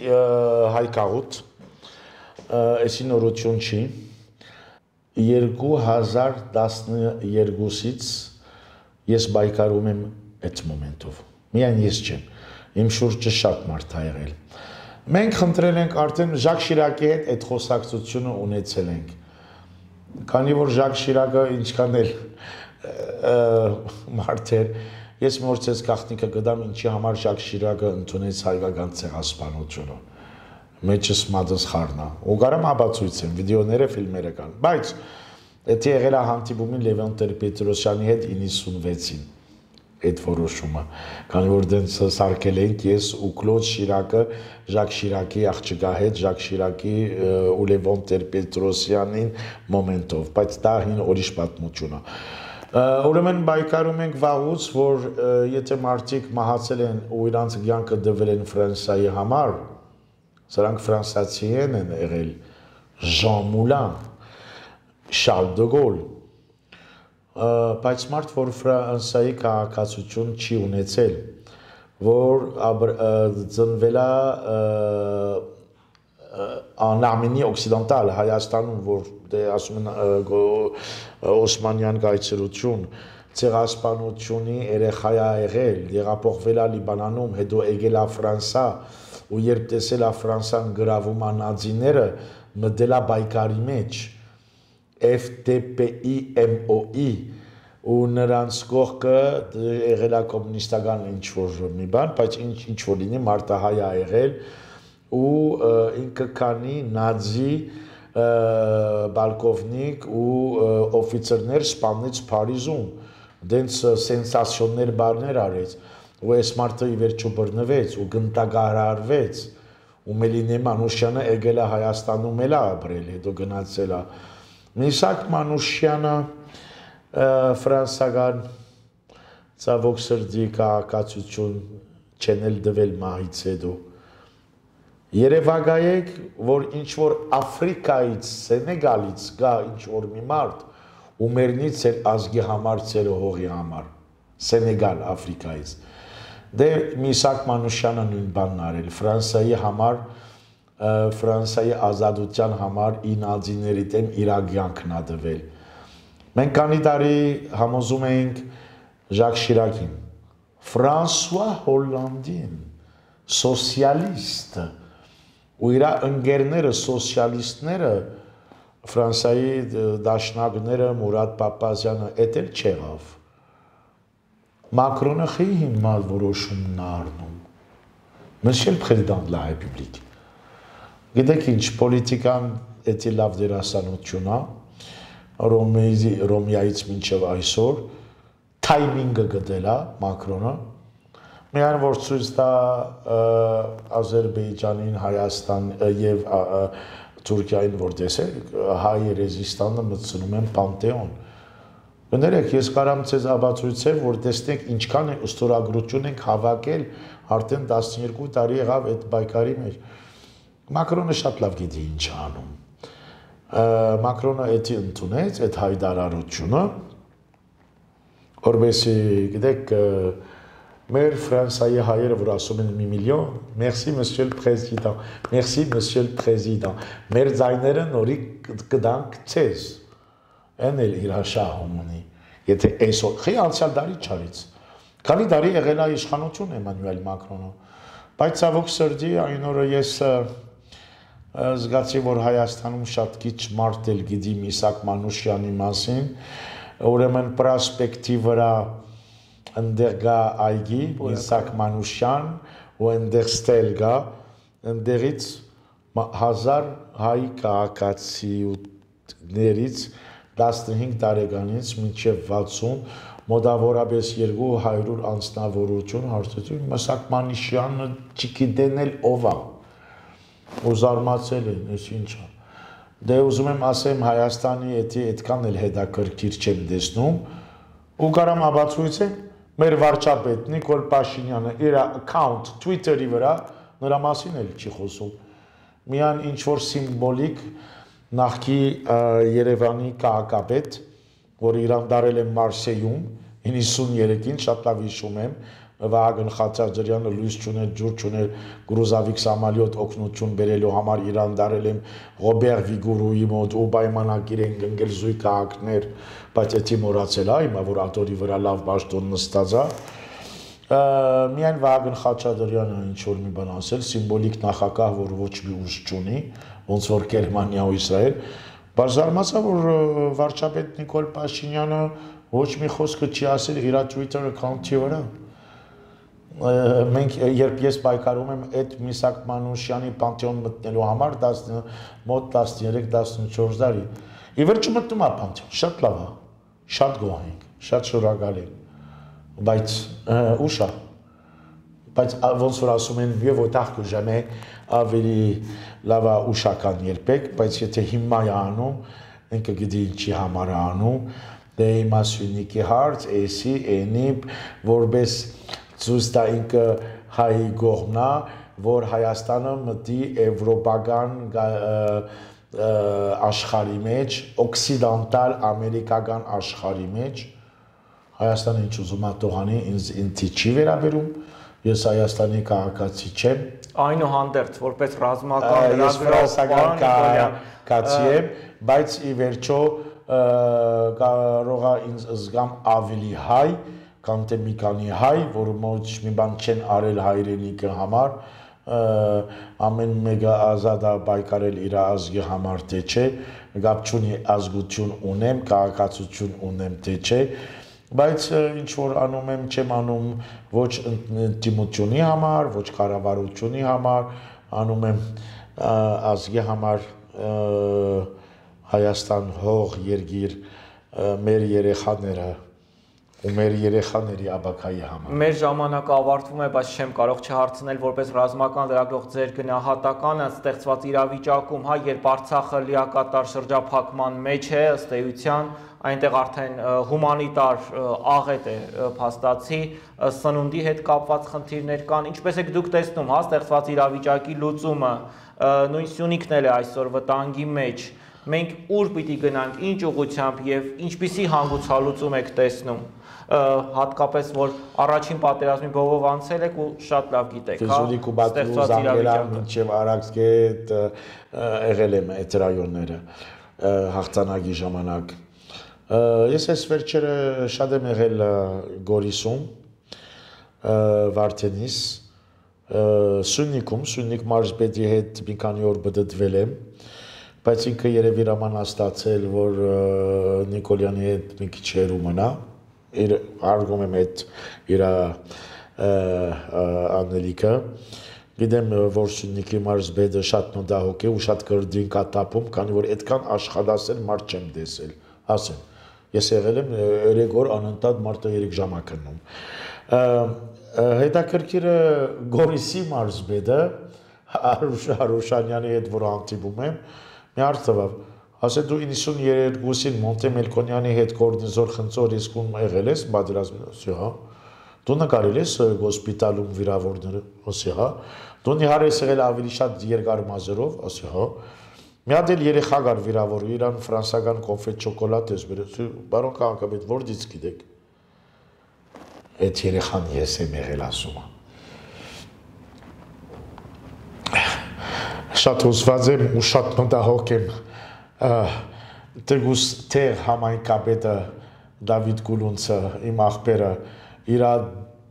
հայկաղուտ այսի նորություն չի երկու հազար տասներկուից ես բայկարում եմ այդ մոմենտով միայն ես չեմ Իմ շուրջը շատ մարդ ա եղել։ Մենք խնդրել ենք արդեն Ժակ Շիրակի հետ այդ խոսակցությունը ունեցել ենք։ Քանի որ Ժակ Շիրակը ինչքան էլ մարդ էր, ես մորցես գաղտնիքը գտամ ինչի համար Ժակ Շիրակը ընդունեց հայկական ցեղասպանությունը։ Մեջս մատս խառնա։ Ու կարամ ապացույցեմ, վիդեոները, ֆիլմերը կան։ Բայց դա եղել է հանդիպումին Լևոն Տեր-Պետրոսյանի հետ իննսունվեցին։ Այդ որոշումը, քանի որ դենց սարքել ենք ես ու Կլոդ Շիրակը Ժակ Շիրակի աղջկա հետ, Ժակ Շիրակի ու Լևոն Տեր-Պետրոսյանին մոմենտով, բայց դա հին ուրիշ պատմություն է։ Ուրեմն բայկարում ենք վաղուց, որ եթե մարդիկ մահացել են ու իրանց կյանքը դվել են Ֆրանսիայի համար, սրանք ֆրանսիացի են եղել Ժան Մուլան, Շարլ դը Գոլ բայց մարդ որ Ֆրանսիայի քաղաքացիություն չի ունեցել, որ ծնվել է Արմենի օկսիդանտալ Հայաստանում, որ դե ասում են Օսմանյան կայսրություն, ցեղասպանությունի երեխա է եղել, եղափոխվել է Լիբանանում, հետո եկել է Ֆրանսիա, ու երբ տեսել է Ֆրանսիան գրավում է նազիները, մտել է բայկարի մեջ F D P I M O I ու նրանց կողքը եղել է կոմունիստական ինչ-որ մի բան, բայց ինչ-որ լինի մարտահայ է եղել ու ինքը քանի նազի բալկովնիկ ու օֆիցերներ սպանեց Փարիզում, դենց սենսացիոններ բաներ արեց ու այս մարդը ի վերջո բռնվեց ու գնդակահարարվեց ու Մելինե Մանուշյանը եկել է Հայաստանում էլ ապրել, հետո գնացել է Միսակ Մանուշյանը ֆրանսական ցավոք սրտի քաղաքացիություն չեն էլ դվել մահից հետո Երևակայեք, որ ինչ որ Աֆրիկայից, Սենեգալից գա ինչ որ մի մարդ ու մերնից էր ազգի համար, ծերը հողի համար, Սենեգալ, Աֆրիկայից։ Դե Միսակ Մանուշյանը նույն բանն արել, Ֆրանսիայի համար, Ֆրանսիայի ազատության համար ինազիների դեմ իրագյանքն ա դվել։ Մենք քանի տարի համոզում էինք Ժակ Շիրակին, Ֆրանսուଆ Հոլանդին, սոցիալիստ ու իր ընկերները սոցիալիստները Ֆրանսիայի դաշնակները Մուրադ Պապազյանը էդ էլ չեղավ Մակրոնը խի հիմնալ որոշումն առնում Monsieur le président de la République Գիտեք ինչ պոլիտիկան էդի լավ դերասանություն է Ռոմիայից մինչև այսօր թայմինգը գտել է Մակրոնը Միայն որ ցույց տա Ադրբեջանին, Հայաստան եւ Թուրքիային որ տեսեք հայ ռեզիստանը մտցնում են Պանթեոն։ Կներեք, ես կարամ ցեզ ապացույցեմ, որ տեսնեք ինչքան է ըստորագրություն ենք հավաքել արդեն տասնյոթ տարի եղավ այդ բայկարի մեջ։ Մակրոնը շատ լավ գիտի ինչ անում։ Մակրոնը էդի ընդունեց այդ հայտարարությունը, որովհետեւ գիտեք Մեր Ֆրանսիայի հայերը, որ ասում են մի միլիոն, merci monsieur le président, merci monsieur le président, մեր ձայները նորի կդանք ցեզ, են էլ իր շահում ունի, եթե այսօր, խի անցյալ դարի չարից, քանի տարի եղել է իշխանություն Էմանուել Մակրոնը, բայց ցավոք սրտի այն օրը ես զգացի, որ Հայաստանում շատ քիչ մարդ էլ գիտի Միսակ Մանուշյանի մասին, ուրեմն պրոսպեկտի վրա Ընդեղ գա այգի, Միսակ Մանուշյան, ու ընդեղ ստել գա, ընդեղից հազար հայ քաղաքացիներից տասնհինգ տարեկանից մինչև վաթսուն, մոտավորապես երկու հարյուր անձնավորություն հարցրեցին, Միսակ Մանուշյանը չգիտեն էլ ով է, ու զարմացել են, ես ինչ է։ Դե ուզում եմ ասեմ Հայաստանի այդքան էլ հետաքրքիր չեմ տեսնում, ու կարամ ապացույցեմ Մեր վարչապետ Նիկոլ Փաշինյանը իր account Twitter-ի վրա նրա մասին էլ չի խոսում։ Միան ինչ որ սիմվոլիկ նախկի Երևանի քաղաքապետ, որ իրան դարել է Մարսեյում իննսուններեքին, շատ լավ հիշում եմ, Վահագն Խաչատրյանը լույս չուներ, ջուր չուներ, գրուզավիկ սամալյոտ օգնություն բերելու համար իրան դարել եմ Ռոբեր Վիգուրուի մոտ ու պայմանագիր են գնկել զույգ քաղաքներ, բայց էդի մոռացել է, հիմա որ աթորի վրա լավ պաշտոն նստած է։ Միայն Վահագն Խաչատրյանը ինչ որ մի բան ասել, սիմվոլիկ նախագահ, որ ոչ մի ուժ չունի, ոնց որ Գերմանիա ու Իսրայել, բայց զարմացա, որ վարչապետ Նիկոլ Փաշինյանը ոչ մի խոսքը չի ասել իր Twitter account-ի վրա։ Մենք երբ ես պայքարում եմ այդ Միսակ Մանուշյանի Պանթեոն մտնելու համար մոտ տասներեք տասնչորս տարի։ Ի վերջո մտնում է Պանթեոն, շատ լավ է, շատ գոհ ենք, շատ շնորհակալ ենք, բայց ուշ է, բայց ոնց որ ասում են mieux vaut tard que jamais, ավելի լավ է ուշական երբեք, բայց եթե հիմա է անում, ինքը գիտի ինչի համար է անում, դե հիմա Սյունիքի հարց, էսի, էնի, որպես Ցույց տա ինքը հայի գողմնա, որ Հայաստանը մտի եվրոպական աշխարհի մեջ, օքսիդանտալ ամերիկական աշխարհի մեջ, Հայաստանը ինչ ուզում է տողանի, ինձ չի վերաբերում, ես Հայաստանի քաղաքացի չեմ։ Այնուհանդերձ, որպես ռազմական լրագրող քաղաքացի եմ, բայց ի վերջո կարող է ինձ զգամ ավելի հայ, կամ թե մի քանի հայ, որ ոչ մի բան չեն արել հայրենիքի համար, ամեն մեկը ազատ է պայքարել իր ազգի համար, թե չէ, գապ չունի ազգություն ունեմ, քաղաքացիություն ունեմ, թե չէ, բայց ինչ որ անում եմ, չեմ անում ոչ ընդդիմությունի համար, ոչ կառավարությունի համար, անում եմ ազգի համար Հայաստան հող, երգիր, մեր երեխաները ու մեր երեխաների աբակայի համար։ Մեր ժամանակը ավարտվում է, բայց չեմ կարող չհարցնել որպես ռազմական լրագրող ձեր գնահատականը ստեղծված իրավիճակում, հա, երբ Արցախը լիակատար շրջափակման մեջ է, ըստ էության, այնտեղ արդեն հումանիտար աղետ է փաստացի, սնունդի հետ կապված խնդիրներ կան, ինչպես եք դուք տեսնում, հա, ստեղծված իրավիճակի լուծումը, նույն Սյունիքն էլ է այսօր վտանգի մեջ, մենք ուր պիտի գնանք, ինչ ուղղությամբ եւ ինչպիսի հանգուցալուծում եք տեսնում, հատկապես որ առաջին պատերազմի բովով անցել եք ու շատ լավ գիտեք, հա, ստեղծված իրավիճակը, մինչև Արաքսգետ եղել եմ այդ ռայոնները հաղթանակի ժամանակ։ Ես այս վերջերը շատ եմ եղել Գորիսում, Վարդենիս, Սյունիքում, Սյունիք մարզպետի հետ մի քանի օր բդդվել եմ, բայց ինքը երևի ռաման աստացել, որ Նիկոլյանի հետ մի քիչ հեռու մնա, հարգում եմ այդ իր անելիքը, գիտեմ, որ Սյունիքի մարզպետը շատ մտահոգ է ու շատ կրդին կատապում, քանի որ այդքան աշխատասեր մարդ չեմ տեսել, ասեմ, ես եղել եմ երեք օր անընդհատ մարդը երեք ժամ է քննում։ Հետաքրքիրը Գորիսի մարզպետը Հարուշանյանի հետ որ հանդիպում եմ, մի հարց տվավ, ասել դու իննսուններկուսին Մոնտե Մելքոնյանի հետ կորնիզոր խնձոր իսկում եղել ես պատերազմում, ասի հա, դու նկարել ես հոսպիտալում վիրավորները, ասի հա, դու նիհար ես եղել ավելի շատ երկար մազերով, ասի հա, մի հատ էլ երեխա կար վիրավոր, իրան ֆրանսական կոնֆետ շոկոլադ ես բերել, բարոն քաղաքապետ, որտից գիտեք։ Այդ երեխան ես եմ եղել ասում։ Շատ հուզված եմ ու շատ մտահոգ եմ Տգուս Տեր համայնքապետը Դավիթ Գուլունցը, իմ աղբերը, իր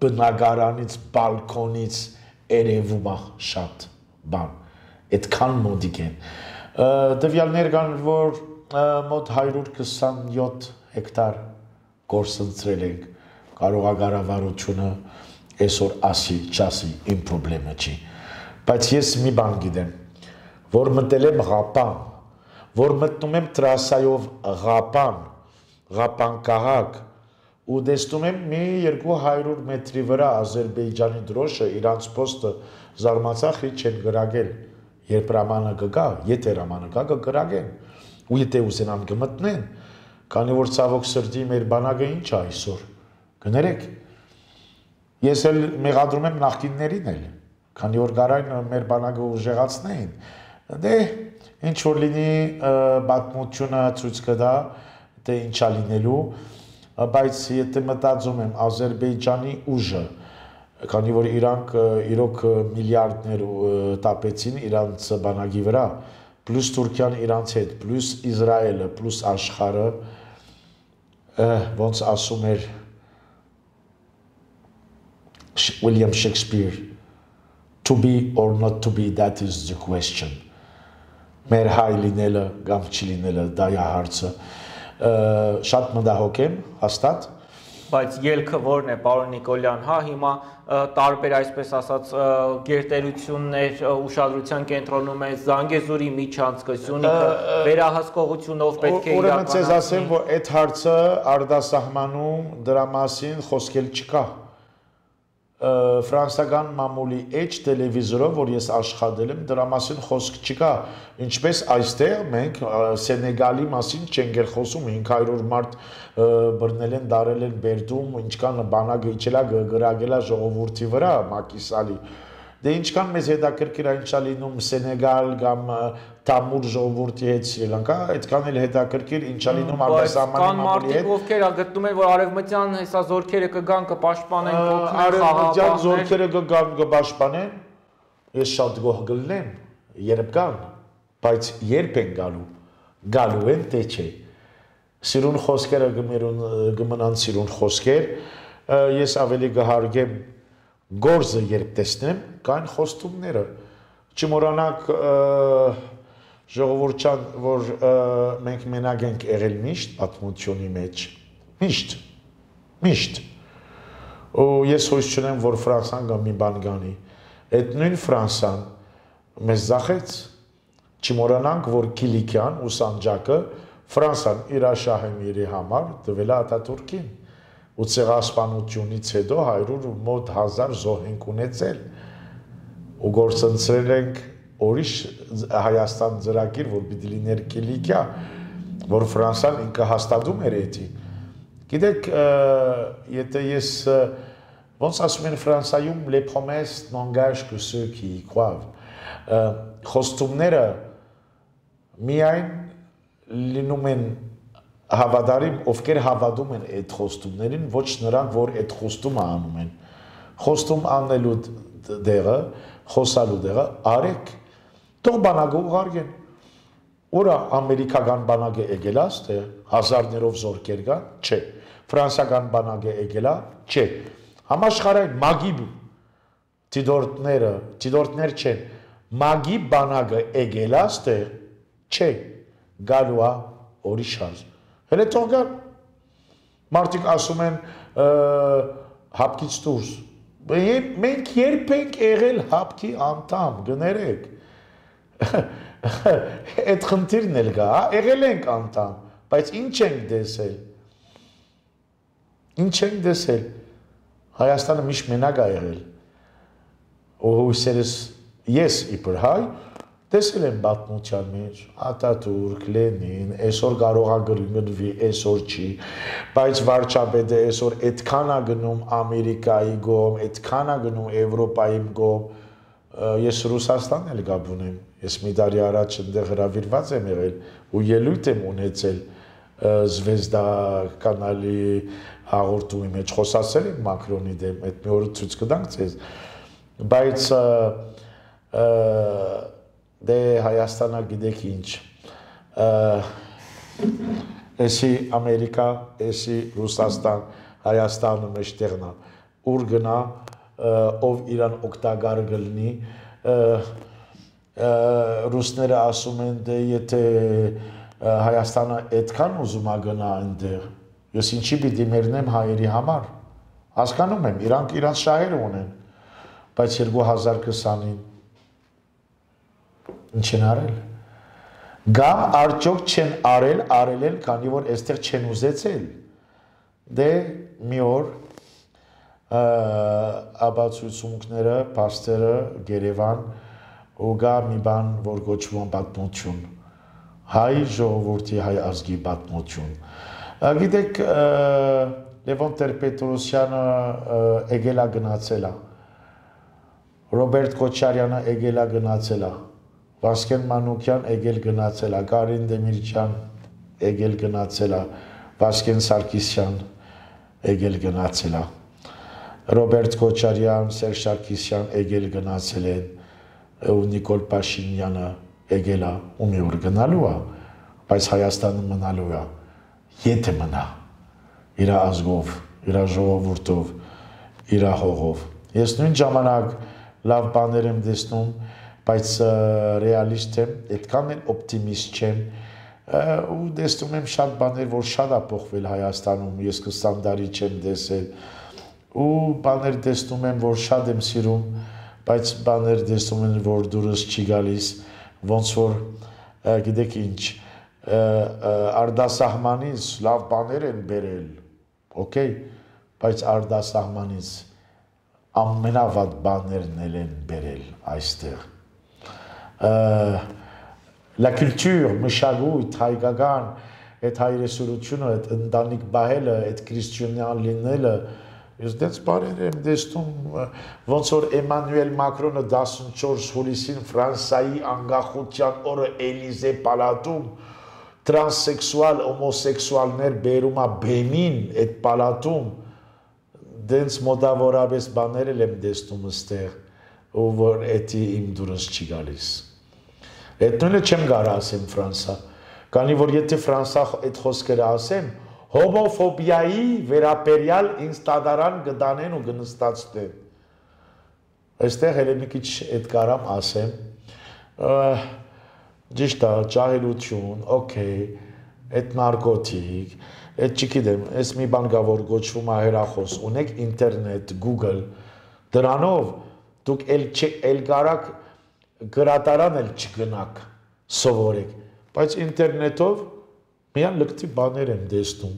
բնակարանից, բալկոնից երևում է շատ բան, այդքան մոտիկ են։ Տվյալներ կան, որ մոտ հարյուր քսանյոթ հեկտար գործընտրել ենք, կարող է կառավարությունը այսօր ասի, չասի, իմ պրոբլեմը չի, բայց ես մի բան գիտեմ, որ մտել եմ Ղապան, որ մտնում եմ տրասայով Ղապան, Ղապան քաղաք, ու տեսնում եմ մի երկու հարյուր մետրի վրա Ադրբեջանի դրոշը իրանց պոստը զարմացախի չեն գրագել, երբ ռամանը կգա, եթե ռամանը կա կգրագեն, ու եթե ուզենան կմտնեն, քանի որ ցավոք սրտի մեր բանակը ինչ է այսօր, կներեք, ես էլ մեղադրում եմ նախկիններին էլ, քանի որ կարան մեր բանակը ուժեղացնեին, դե ինչ որ լինի պատմությունը ցույց կտա, թե ինչա լինելու, բայց եթե մտածում եմ Ադրբեջանի ուժը, քանի որ իրանք իրոք միլիարդներ տապեցին իրանց բանակի վրա, պլյուս Թուրքիան իրանց հետ, պլյուս Իսրայելը, պլյուս աշխարհը, ոնց ասում էր William Shakespeare, to be or not to be, that is the question. Մեր հայ լինելը կամ չլինելը, դա է հարցը։ Շատ մտահոգ եմ, հաստատ։ Բայց ելքը որն է, պարոն Նիկոլյան, հա, հիմա տարբեր այսպես ասած գերտերություններ ուշադրության կենտրոնում է Զանգեզուրի միջանցքը, Սյունիքը վերահսկողությունով պետք է իրականացվի։ Ուրեմն ցեզ ասեմ, որ այդ հարցը արտասահմանում դրա մասին խոսքել չկա։ Ֆրանսիական մամուլի H տելևիզորով, որ ես աշխատել եմ, դրա մասին խոսք չկա, ինչպես այստեղ մենք Սենեգալի մասին չենք էլ խոսում, հինգ հարյուր մարդ բռնել են, դարել են Բերդում, ինչքան բանակը իջել է գրագել է ժողովրդի վրա, Մակիսալի, դե ինչքան մեզ հետաքրքիր է ինչա լինում Սենեգալ կամ Թամուր ժողովրդի հետ Սրի Լանկա, այդքան էլ հետաքրքիր ինչա լինում արտասահմանի մամուլի հետ։ Կան մարդիկ, ովքեր գտնում են, որ արևմտյան հեսա զորքերը կգան, կպաշտպանեն, արևմտյան զորքերը կգան, կպաշտպանեն, ես շատ գոհ կլինեմ, երբ գան, բայց երբ են գալու, գալու են, թե չէ։ Սիրուն խոսքերը կմնան սիրուն խոսքեր, ես ավելի կհարգեմ գործը երբ տեսնեմ, կան խոստումները, չմոռանանք ժողովուրդյան, որ մենք մենակ ենք եղել միշտ պատմությունի մեջ, միշտ, միշտ, ու ես հույս չունեմ, որ Ֆրանսան կամ մի բան գանի, այդ նույն Ֆրանսան մեզ ձախեց, չմոռանանք, որ Կիլիկյան ու Սանջակը Ֆրանսան իր շահեմիրի համար տվել է Աթաթուրքին, ու ցեղասպանությունից հետո հարյուր մոտ հազար զոհ ենք ունեցել ու գործընծրել ենք ուրիշ Հայաստան ծրագիր, որ պիտի լիներ Կիլիկիա, որ Ֆրանսիան ինքը հաստատում էր էդի։ Գիտեք, եթե ես ոնց ասում են Ֆրանսիայում les promesses n'engagent que ceux qui y croient, խոստումները միայն լինում են հավատարիմ, ովքեր հավատում են այդ խոստումներին, ոչ նրանք, որ այդ խոստումը անում են։ Խոստում անելու դեղը, խոսալու դեղը արեք, թող բանակը ուղարկեն։ Ուրա ամերիկական բանակը եկել է, թե հազարներով զորքեր կան, չէ։ Ֆրանսիական բանակը եկել է, չէ։ Համաշխարհային մագի դիտորդները, դիտորդներ չեն։ Մագի բանակը եկել է, թե չէ։ Գալու է օրիշար։ Հələ թող գան։ Մարդիկ ասում են հապկից դուրս։ Մենք երբեք եղել հապկի անդամ, գներեք։ Այդ խնդիրն էլ կա, եղել ենք անդամ, բայց ինչ ենք տեսել։ Ինչ ենք տեսել։ Հայաստանը միշտ մենակ է եղել։ Ու հույսերս ես իբր հայ տեսել եմ պատմության մեջ, Ատատուրք, Լենին, այսօր կարող է գրվի, այսօր չի, բայց վարչապետը այսօր այդքան է գնում Ամերիկայի գոմ, այդքան է գնում Եվրոպայի գոմ, ես Ռուսաստան էլ գաբ ունեմ, ես մի տարի առաջ այնտեղ հրավիրված եմ եղել ու ելույթ եմ ունեցել Զվեզդա կանալի հաղորդումի մեջ խոսացել եմ Մակրոնի դեմ, այդ մի օր ցույց կտանք ձեզ, բայց դե Հայաստանը գիտեք ինչ, էսի Ամերիկա, էսի Ռուսաստան, Հայաստանը մեջտեղն է, ուր գնա, ով իրան օգտակար կլինի, ռուսները ասում են, դե եթե Հայաստանը այդքան ուզում է գնա այնտեղ, ես ինչի պիտի մեռնեմ հայերի համար, հասկանում եմ, իրանք իրանց շահերը ունեն, բայց երկու հազար քսանին ինչ են արել, գամ արդյոք չեն արել, արել են, քանի որ այստեղ չեն ուզեցել, դե մի օր ապացույցումները, պաստերը, Երևան, ու գա մի բան, որ գոչվում պատմություն, հայ ժողովրդի, հայ ազգի պատմություն, գիտեք, Լևոն Տեր-Պետրոսյանը եկել է գնացել է, Ռոբերտ Քոչարյանը եկել է գնացել է, Վասկեն Մանուկյան եկել գնացել է, Կարին Դեմիրճյան եկել գնացել է, Վասկեն Սարգսյան եկել գնացել է, Ռոբերտ Քոչարյան, Սերժ Սարգսյան եկել գնացել են, ու Նիկոլ Փաշինյանը եկել է, ու մի օր գնալու է, բայց Հայաստանը մնալու է, եթե մնա, իր ազգով, իր ժողովուրդով, իր հողով։ Ես նույն ժամանակ լավ բաներ եմ տեսնում, բայց ռեալիստ եմ, այդքան էլ օպտիմիստ չեմ, ու տեսնում եմ շատ բաներ, որ շատ է փոխվել Հայաստանում, ես քսան տարի չեմ տեսել, ու բաներ տեսնում եմ, որ շատ եմ սիրում, բայց բաներ տեսնում եմ, որ դուրս չի գալիս, ոնց որ գիտեք ինչ, արտասահմանից լավ բաներ են բերել, օքեյ, բայց արտասահմանից ամենավատ բաներն են բերել այստեղ։ La culture, մշակույթ, հայկական, այդ հայրենասիրությունը, այդ ընտանիք բահելը, այդ քրիստոնեան լինելը, ես դες բաներ եմ տեսնում, ոնց որ Էմանուել Մակրոնը տասնչորս հուլիսին Ֆրանսիայի անկախության օրը Էլիզե պալատում տրանսեքսուալ, հոմոսեքսուալներ բերում է բեմին այդ պալատում, դենց մոտավորապես բաներ եմ տեսնում ստեղ, ու որ էդի իմ դուրս չի գալիս։ Այդ նույնը չեմ կարող ասեմ Ֆրանսա, քանի որ եթե Ֆրանսա այդ խոսքերը ասեմ, հոմոֆոբիայի վերաբերյալ ինձ տադարան կդանեն ու կնստացնեն։ Այստեղ հենց մի քիչ այդ կարամ ասեմ, ճիշտ է, ջահելություն, օքեյ, այդ նարկոտիկ, այդ չգիտեմ, այս մի բան կա, որ գոչվում է հեռախոս, ունեք ինտերնետ, Google, դրանով դուք էլ կարաք գրատարան էլ չգնաք, սովորեք, բայց ինտերնետով միան լկտի բաներ եմ տեսնում,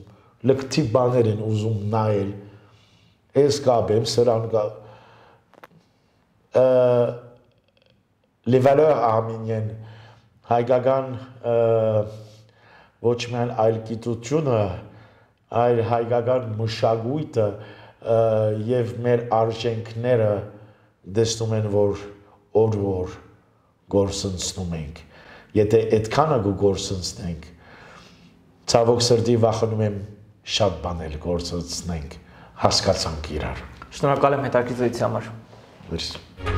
լկտի բաներ են ուզում նայել, ես կապեմ սրան կա les valeurs arméniennes հայկական ոչ միայն այլ գիտությունը, այլ հայկական մշակույթը եւ մեր արժեքները դեսնում են, որ օր-որ գործընծնում ենք։ Եթե այդքանը գործընծնենք, ցավոք սրտի վախենում եմ շատ բաներ գործընծնենք, հասկացանք իրար։ Շնորհակալ եմ հետաքրքրության համար։ Merci.